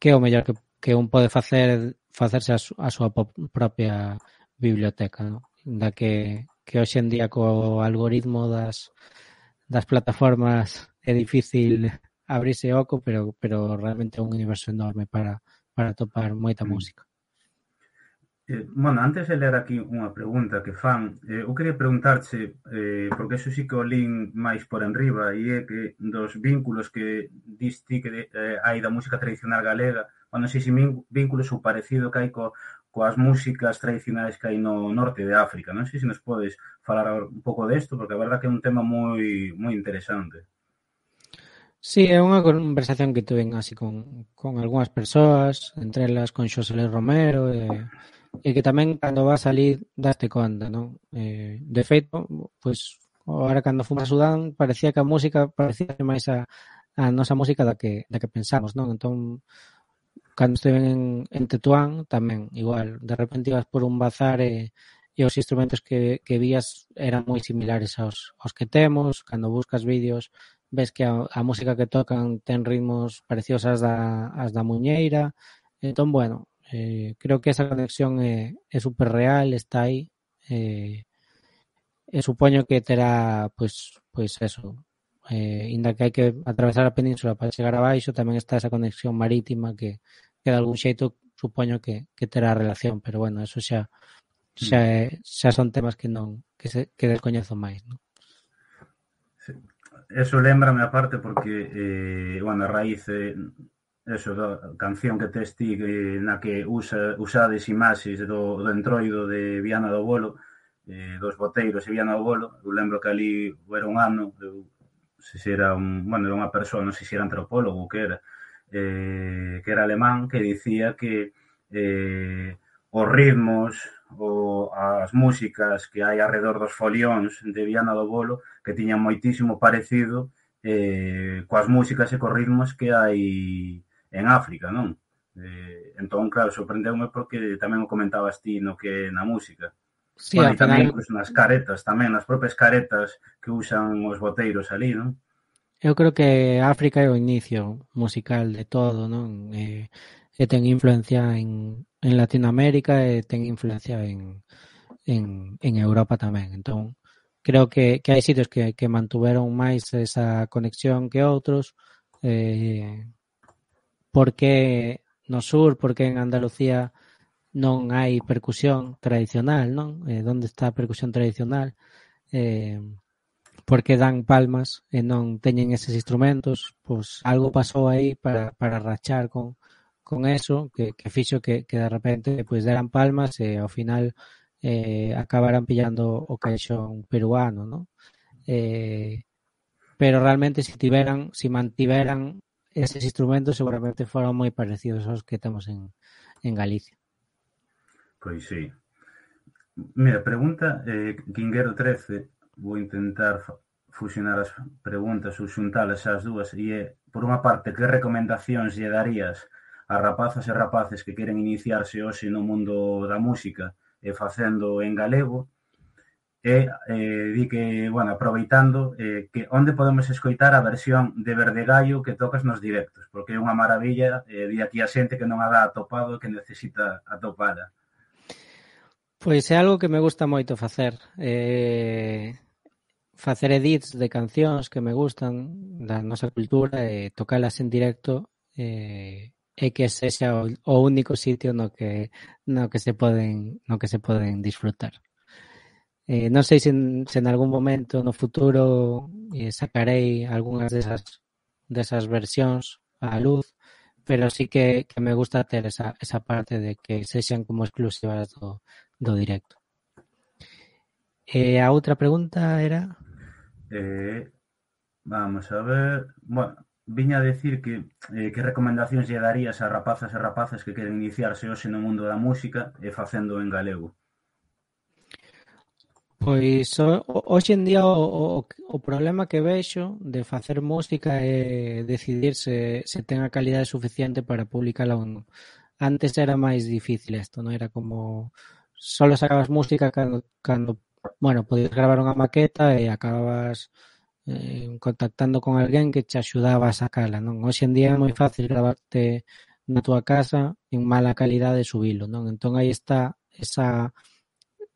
B: é o mellor que un pode facerse a súa propia biblioteca, non? Da que hoxe en día co algoritmo das plataformas é difícil abrirse oco, pero realmente é un universo enorme para topar moita música.
A: Bueno, antes de ler aquí unha pregunta que fan, eu quería preguntarche, porque eso sí que o lín máis por enriba, e é que dos vínculos que dis ti que hai da música tradicional galega, non sei se vínculos ou parecido que hai coas músicas tradicionais que hai no norte de África. Non sei se nos podes falar un pouco desto, porque a verdad que é un tema moi interesante.
B: Sí, é unha conversación que tuve así con algunhas persoas, entre elas con Xosé Luis Romero, e que tamén cando vas ali daste conta, non? De feito, pois, ahora cando fomos a Sudán parecía que a música parecía máis a nosa música da que pensamos, non? Entón, cando estiven en Tetuán tamén, igual, de repente ibas por un bazar e os instrumentos que vías eran moi similares aos que temos, cando buscas vídeos ves que a música que tocan ten ritmos parecidos ás da muñeira, entón, bueno, creo que esa conexión é super real, está aí, e supoño que terá, pois eso, inda que hai que atravesar a península para chegar abaixo, tamén está esa conexión marítima que de algún xeito supoño que terá relación, pero bueno, eso xa son temas que non que descoñezo máis, non?
A: Sí. Eso lembrame aparte porque, bueno, a raíz eso da canción que tes ti na que usades imaxes do entroido de Viana do Bolo, dos boteiros e Viana do Bolo. Eu lembro que ali era un ano, se era bueno, era unha persoa, non sei se era antropólogo ou que era alemán, que dicía que os ritmos ou as músicas que hai alrededor dos folións de Viana do Bolo que tiñan moitísimo parecido coas músicas e cos ritmos que hai en África, non? Entón, claro, sorprendeume porque tamén o comentabas ti no que na música.
B: Sí,
A: Bueno,
B: ao
A: e tamén
B: final
A: incluso nas caretas, tamén nas propias caretas que usan os boteiros ali, non?
B: eu creo que África é o inicio musical de todo, non? E ten influencia en Latinoamérica e ten influencia en Europa tamén. Entón, creo que hai sitios que mantuveron máis esa conexión que outros, porque no sur, porque en Andalucía non hai percusión tradicional, non? Onde está a percusión tradicional? Porque dan palmas e non teñen eses instrumentos, pois algo pasou aí para rachar con eso, que fixo que de repente pois deran palmas e ao final acabaran pillando o caixón peruano, non? Pero realmente si mantiveran eses instrumentos seguramente foran moi parecidos aos que temos en Galicia.
A: Pois sí. Mira, pregunta Quinguero 13, vou intentar fusionar as preguntas ou xuntalas as dúas, e por unha parte, que recomendacións lle darías a rapazas e rapaces que queren iniciarse hoxe no mundo da música e facendo en galego, e di que, bueno, aproveitando que onde podemos escoitar a versión de Verdegallo que tocas nos directos, porque é unha maravilla, di aquí a xente que non a dá atopado que necesita atopala.
B: Pois é algo que me gusta moito facer. Facer edits de cancións que me gustan da nosa cultura e tocalas en directo e que sexa o único sitio no que se poden disfrutar. Non sei se en algún momento no futuro sacarei algunhas desas versións á luz, pero sí que me gusta ter esa parte de que sexan como exclusivas do directo. A outra pregunta era...
A: Vamos a ver... Bueno, viña a decir que recomendacións lle darías a rapazas e rapaces que queren iniciarse hoxe no mundo da música e facendo en galego.
B: Pois hoxe en día o problema que vexo de facer música é decidir se ten a calidade suficiente para publicala ou non. Antes era máis difícil isto, non? Era como solo sacabas música cando bueno, podías gravar unha maqueta e acababas contactando con alguén que te axudaba a sacala, non? Hoxe en día é moi fácil gravarte na túa casa en mala calidade e subilo, non? Entón aí está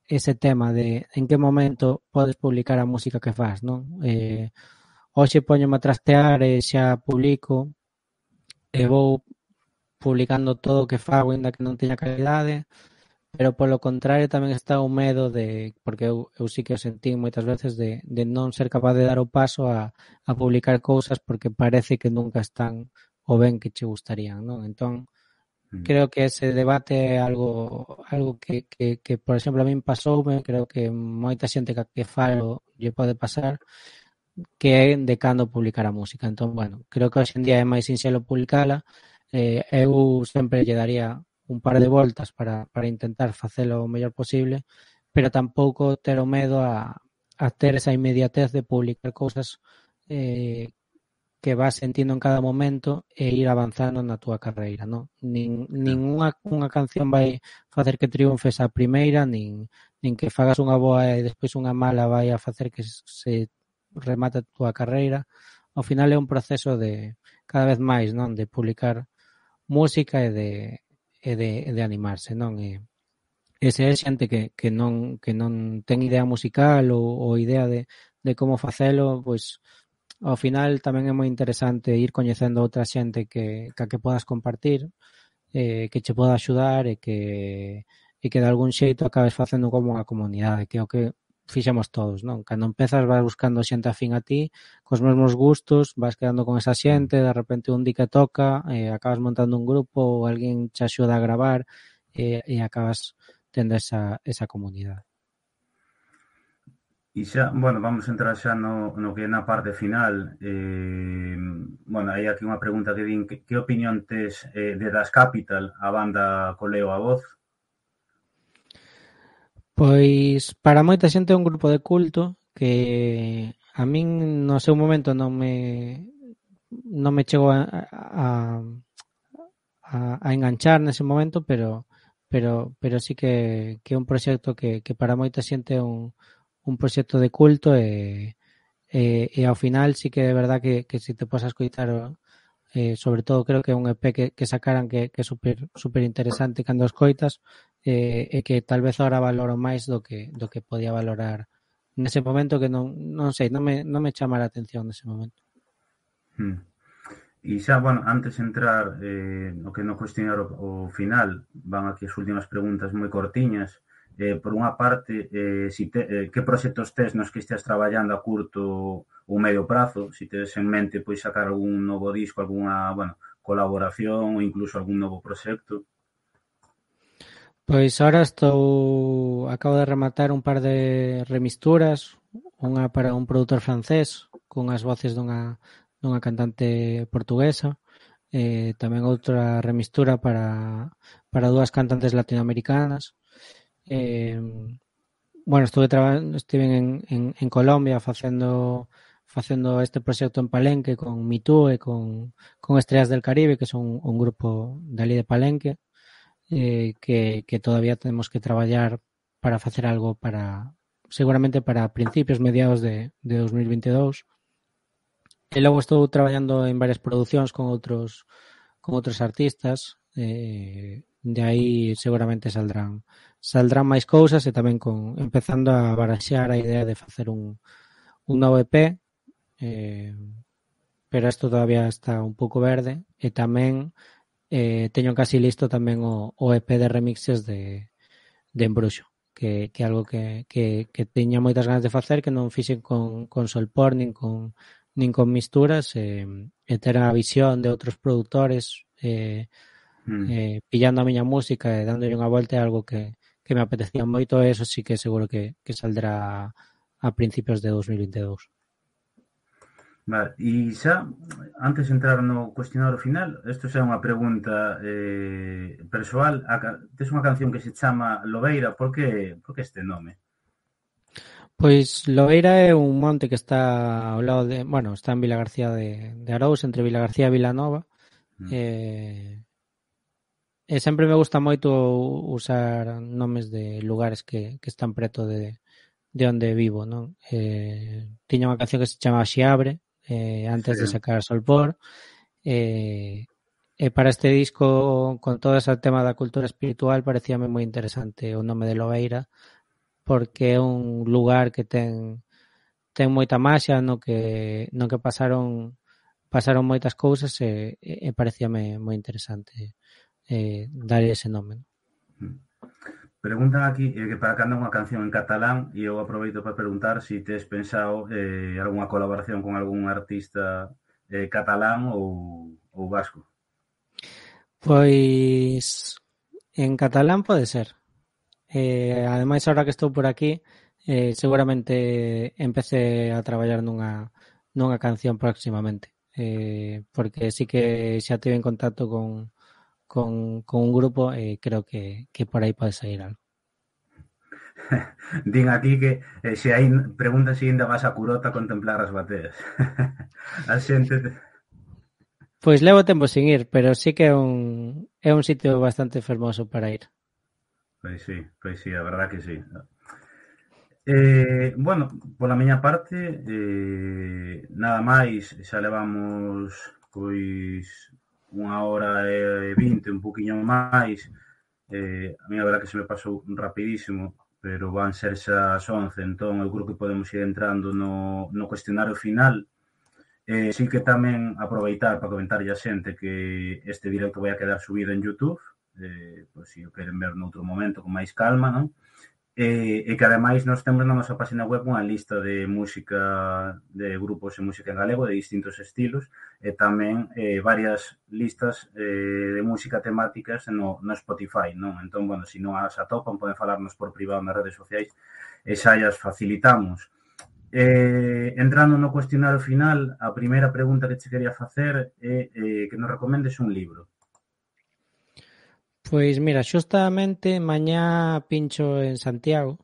B: ese tema de en que momento podes publicar a música que fas, non? Hoxe poñome a trastear e xa publico e vou publicando todo o que fago ainda que non teña calidade, pero polo contrario tamén está o medo de, porque eu sí que o sentí moitas veces de non ser capaz de dar o paso a publicar cousas porque parece que nunca están o ben que che gustarían, non? Entón, creo que ese debate é algo que por exemplo, a min pasoume, creo que moita xente que falo lle pode pasar, que é de cando publicar a música. Entón, bueno, creo que hoxe en día é máis sinxelo publicala. Eu sempre lle daría un par de voltas para intentar facelo o mellor posible, pero tampouco ter o medo a ter esa inmediatez de publicar cousas que vas sentindo en cada momento e ir avanzando na túa carreira, non? Nin unha canción vai facer que triunfes a primeira, nin que fagas unha boa e despois unha mala vai a facer que se remate a túa carreira. Ao final é un proceso de cada vez máis, non? De publicar música e de animarse, non? E se é xente que non ten idea musical ou idea de como facelo, pois ao final tamén é moi interesante ir coñecendo outra xente ca que podas compartir, que che poda axudar e que de algún xeito acabes facendo como unha comunidade, que é o que fixemos todos, non? Cando empezas vas buscando xente afín a ti, cos mesmos gustos, vas quedando con esa xente, de repente un di que toca, acabas montando un grupo ou alguén che axuda a gravar e acabas tendo esa comunidade.
A: E xa, bueno, vamos entrar xa no que é na parte final. Bueno, hai aquí unha pregunta que din que opinión tes de Das Capital, a banda coleo a voz?
B: Pois para moita xente é un grupo de culto que a min no seu momento non me chegou a enganchar nese momento, pero sí que é un proxecto que para moita xente é un proxecto de culto e ao final sí que é verdad que se te posas coitar sobre todo creo que é un EP que sacaran que é super interesante cando os coitas e que tal vez ahora valoro máis do que podía valorar nese momento que non sei, non me chama a atención nese momento.
A: E xa, bueno, antes de entrar no que no cuestionario o final, van aquí as últimas preguntas moi cortiñas. Por unha parte, que proxectos tes nos que estés traballando a curto ou medio prazo, se tes en mente pois sacar algún novo disco, algunha, bueno, colaboración ou incluso algún novo proxecto?
B: Pois ahora acabo de rematar un par de remisturas, unha para un produtor francés cunhas voces dunha cantante portuguesa, tamén outra remistura para dúas cantantes latinoamericanas. Bueno, estive en Colombia facendo este proxecto en Palenque con Mitú e con Estrellas del Caribe, que son un grupo dali de Palenque, que todavía temos que traballar para facer algo seguramente para principios, mediados de 2022. E logo estou traballando en varias producións con outros artistas, de aí seguramente saldrán máis cousas e tamén empezando a baraxear a idea de facer un novo EP, pero isto todavía está un pouco verde e tamén teño casi listo tamén o EP de remixes de Embruxo, que é algo que teña moitas ganas de facer, que non fixen con Solpor nin con misturas, e ter a visión de outros produtores pillando a miña música e dándolle unha volta é algo que me apetecía moito e eso sí que seguro que saldrá a principios de 2022.
A: Vale, e xa, antes de entrar no cuestionario final, isto xa é unha pregunta persoal. Tes unha canción que se chama Lobeira, por que este nome?
B: Pois Lobeira é un monte que está ao lado bueno, está en Vilagarcía de Arous, entre Vilagarcía e Vilanova. E sempre me gusta moito usar nomes de lugares que están preto de onde vivo, non? Tiña unha canción que se chama Xiabre, antes de sacar Solpor, e para este disco, con todo ese tema da cultura espiritual, parecíame moi interesante o nome de Lobeira, porque é un lugar que ten moita maxia, no que pasaron moitas cousas e parecíame moi interesante dar ese nome.
A: Preguntan aquí que para cando unha canción en catalán e eu aproveito para preguntar se tes pensado algunha colaboración con algún artista catalán ou vasco.
B: Pois en catalán pode ser. Ademais, ahora que estou por aquí, seguramente empece a traballar nunha canción próximamente, porque sí que xa tive en contacto con un grupo e creo que por aí pode sair algo.
A: Din aquí que se hai preguntas se ainda vas a Curota a contemplar as bateas. A xente
B: Pois levo tempo sin ir, pero sí que é un sitio bastante fermoso para ir.
A: Pois sí, a verdad que sí. Bueno, pola miña parte, nada máis, xa levamos pois 1 hora e 20, un poquinho máis. A mí a verdad que se me pasou rapidísimo, pero van ser xa as 11, entón eu creo que podemos ir entrando no cuestionario final. Sí que tamén aproveitar para comentarlle a xente que este directo vai a quedar subido en YouTube, pois se o queren ver noutro momento con máis calma, non? E que ademais nós temos na nosa página web unha lista de música, de grupos de música en galego de distintos estilos e tamén varias listas de música temáticas no Spotify, non? Entón, bueno, se non as atopan, poden falarnos por privado nas redes sociais e xa as facilitamos. Entrando no cuestionario final, a primeira pregunta que che quería facer é que nos recomendes un libro.
B: Pois mira, xustamente mañá pincho en Santiago.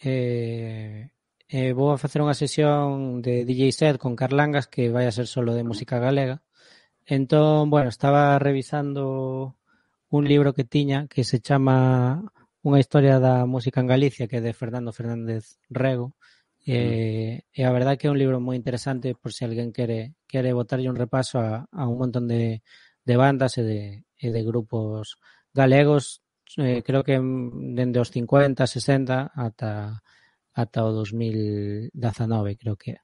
B: Vou a facer unha sesión de DJ set con Carlangas que vai a ser solo de música galega. Entón, bueno, estaba revisando un libro que tiña que se chama Unha historia da música en Galicia, que é de Fernando Fernández Rego. E a verdade que é un libro moi interesante por se alguén quere botarlle un repaso a un montón de bandas e de grupos galegos, creo que dende os 50, 60 ata o 2019, creo que é.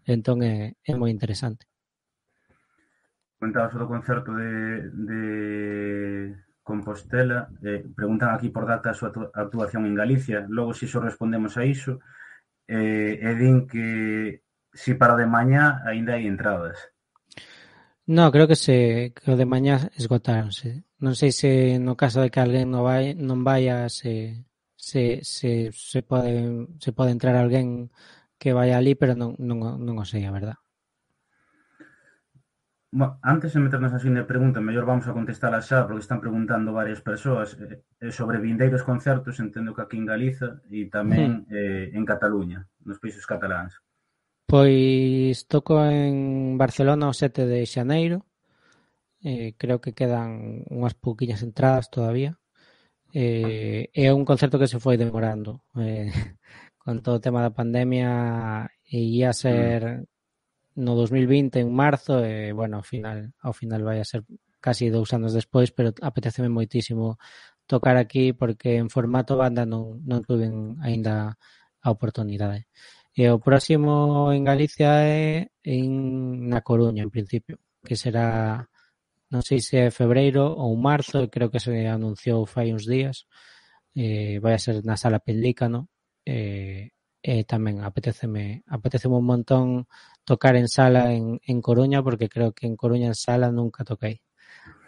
B: Entón é moi interesante.
A: Comentabas o do concerto de Compostela, preguntan aquí por data a súa actuación en Galicia, logo se iso respondemos a iso, e din que si para o de mañá aínda hai entradas.
B: No, creo que o de mañá esgotáronse. Non sei se no caso de que alguén non vaya se pode entrar alguén que vai ali, pero non o sei, a verdad.
A: Bueno, antes de meternos así de pregunta, mellor vamos a contestar xa, porque están preguntando varias persoas sobre vindeiros concertos, entendo que aquí en Galiza e tamén en Cataluña, nos países cataláns.
B: Pois toco en Barcelona o 7 de xaneiro, creo que quedan unhas pouquiñas entradas todavía. É un concerto que se foi demorando. Con todo o tema da pandemia ia ser no 2020 en marzo e, bueno, ao final vai a ser casi 2 anos despois, pero apeteceme moitísimo tocar aquí porque en formato banda non tuven aínda a oportunidade. E o próximo en Galicia é na Coruña, en principio, que será, non sei se é febreiro ou marzo, creo que se anunciou fai uns días. Vai a ser na Sala Pelícano. Tamén apeteceme un montón tocar en sala en Coruña, porque creo que en Coruña en sala nunca toquei.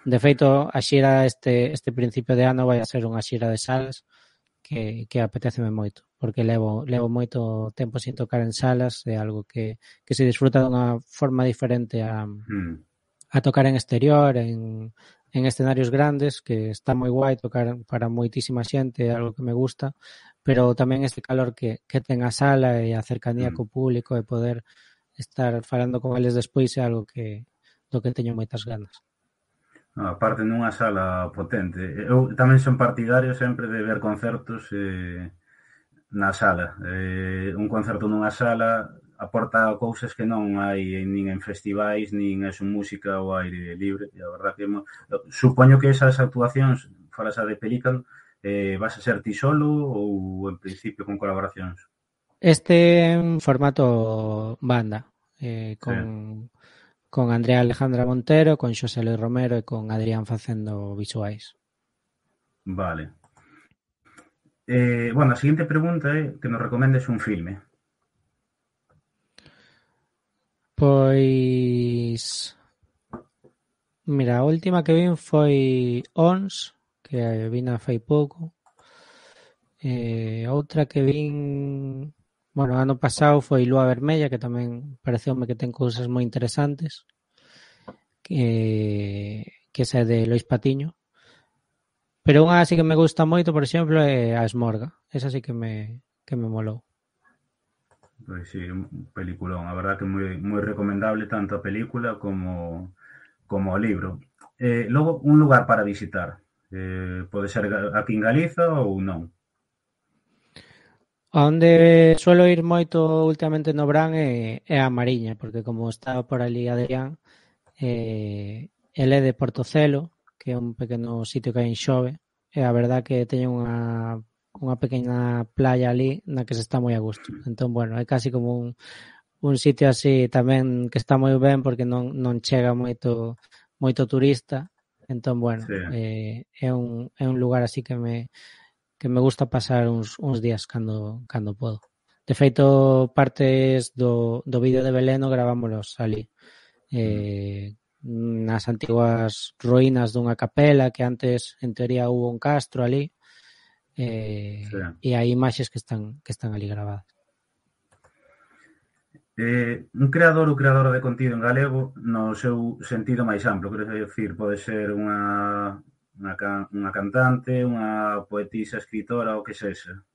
B: De feito, a xira este principio de ano vai a ser unha xira de salas que apeteceme moito, porque levo moito tempo sin tocar en salas, é algo que se disfruta dunha forma diferente a tocar en exterior, en escenarios grandes, que está moi guai tocar para moitísima xente, é algo que me gusta, pero tamén este calor que ten a sala e a cercanía co público e poder estar falando con eles despois é algo do que teño moitas ganas.
A: Aparte nunha sala potente. Eu tamén son partidario sempre de ver concertos na sala. Un concerto nunha sala aporta cousas que non hai nin en festivais, nin é música ao aire libre. E a verdad que supoño que esas actuacións, falas a de Pelícano, vas a ser ti solo ou en principio con colaboracións?
B: Este en formato banda, con Andrea Alejandra Montero, con Xosé Luis Romero e con Adrián facendo visuais.
A: Vale. Bueno, a seguinte pregunta é que nos recomendes un filme.
B: Pois mira, a última que vin foi Ons, que vina fai pouco. Outra que vin, bueno, ano pasado foi Lúa Vermella, que tamén pareceume que ten cousas moi interesantes, que esa é de Lois Patiño. Pero unha así que me gusta moito, por exemplo, é A Esmorga. Esa sí que me molou.
A: Pois sí, un peliculón. A verdad que moi recomendable tanto a película como como o libro. Logo, un lugar para visitar. Pode ser aquí en Galiza ou non.
B: Onde suelo ir moito últimamente no Brán é a Mariña, porque como estaba por ali Adrián, el é de Portocelo, que é un pequeno sitio que hai en Xove, e a verdad que teñen unha pequena playa ali na que se está moi a gusto. Entón, bueno, é casi como un sitio así tamén que está moi ben porque non chega moito turista. Entón, bueno,
A: Sí.
B: é un lugar así que me gusta pasar uns días cando podo. De feito, partes do vídeo de Belén gravámolos ali. Nas antiguas ruínas dunha capela que antes, en teoría, hubo un castro ali.
A: Sí.
B: E hai imaxes que están ali gravadas.
A: Un creador ou creadora de contido en galego no seu sentido máis amplo, quero dicir, pode ser unha cantante, unha poetisa, escritora, o que sexa.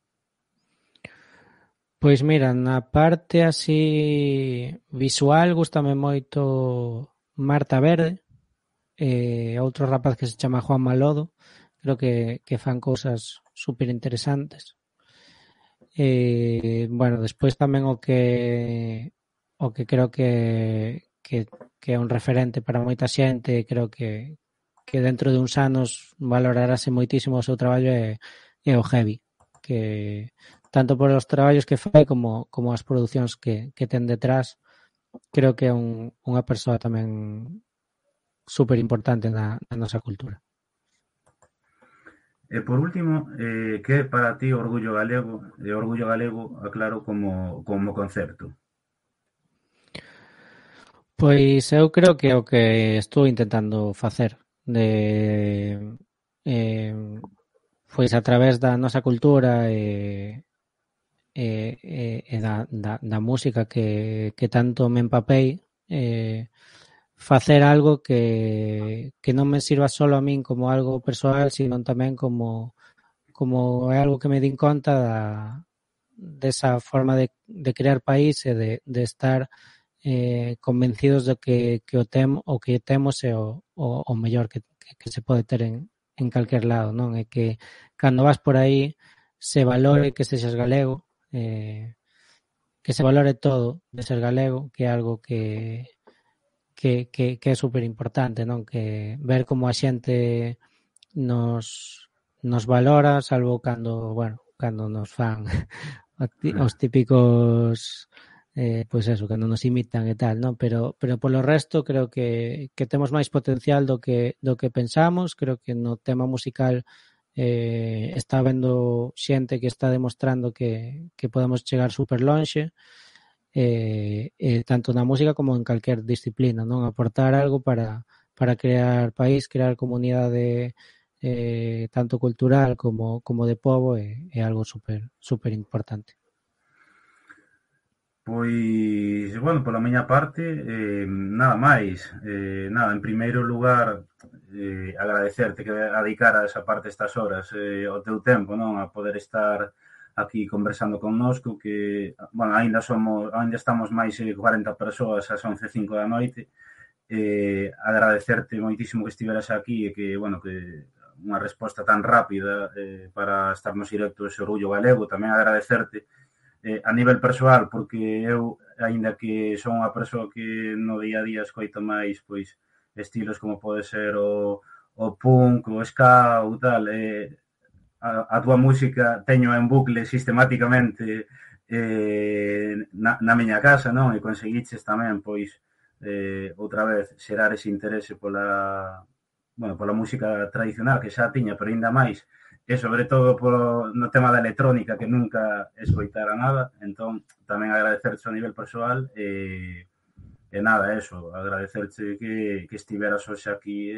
B: Pois mira, na parte así visual gústame moito Marta Verde, outro rapaz que se chama Juan Malodo, creo que fan cousas super interesantes. Bueno, despois tamén o que creo que é un referente para moita xente, creo que dentro de uns anos valorarase moitísimo o seu traballo é o Heavy, que tanto por os traballos que fai como as producións que ten detrás, creo que é unha persoa tamén super importante na nosa cultura.
A: E por último, que é para ti o orgullo galego? E o orgullo galego, aclaro, como concepto.
B: Pois eu creo que é o que estou intentando facer de pois a través da nosa cultura e da música que tanto me empapei, facer algo que non me sirva solo a min como algo persoal, sino tamén como é algo que me din conta desa forma de crear país e de estar convencidos de que o que temos é o mellor que se pode ter en calquer lado, non? É que cando vas por aí se valore que sexas galego, que se valore todo de ser galego, que é algo que é super importante, non? Que ver como a xente nos valora, salvo cando nos fan os típicos pois eso, cando nos imitan e tal, non? Pero polo resto creo que temos máis potencial do que pensamos, creo que no tema musical está habendo xente que está demostrando que podemos chegar super lonxe, tanto na música como en calquer disciplina, non? Aportar algo para crear país, crear comunidade tanto cultural como de pobo é algo super importante.
A: Pois, bueno, pola miña parte, nada máis. Nada, en primeiro lugar, agradecerte que dedicara esa parte estas horas, o teu tempo, non? A poder estar aquí conversando connosco, que, bueno, ainda estamos máis de 40 persoas ás 11:05 da noite. Agradecerte moitísimo que estiveras aquí e que, bueno, que unha resposta tan rápida para estar nos directos ese orgullo galego. Tamén agradecerte a nivel persoal, porque eu, aínda que son unha persoa que no día a día escoito máis pois estilos como pode ser o punk, o ska ou tal, a túa música teño en bucle sistemáticamente na miña casa, non? E conseguiches tamén, pois, outra vez, xerar ese interese pola música tradicional que xa tiña, pero ainda máis e sobre todo no tema da electrónica que nunca escoitara nada, entón tamén agradecerche a nivel persoal e nada, eso, agradecerche que estiveras hoxe aquí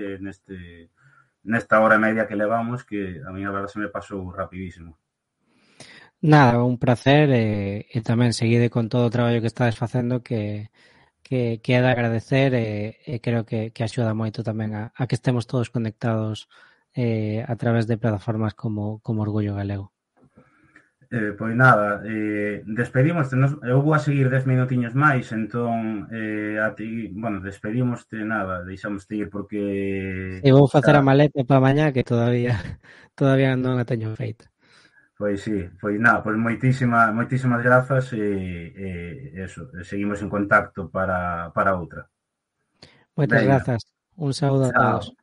A: nesta hora e media que levamos, que a mí a verdade se me pasou rapidísimo.
B: Nada, un placer e tamén seguide con todo o traballo que estades facendo que é de agradecer e creo que axuda moito tamén a que estemos todos conectados a través de plataformas como Orgullo Galego.
A: Pois nada, despedimos, eu vou a seguir 10 minutiños máis, entón a ti, bueno, despedimoste, nada, deixamoste ir porque
B: E vou facer a
A: xa,
B: maleta para mañá que todavía todavía non a teño feita.
A: pois sí, pois nada, pois moitísimas grazas eso, seguimos en contacto para outra.
B: Moitas
A: Venga,
B: grazas. Un saúdo a todos.
A: chao.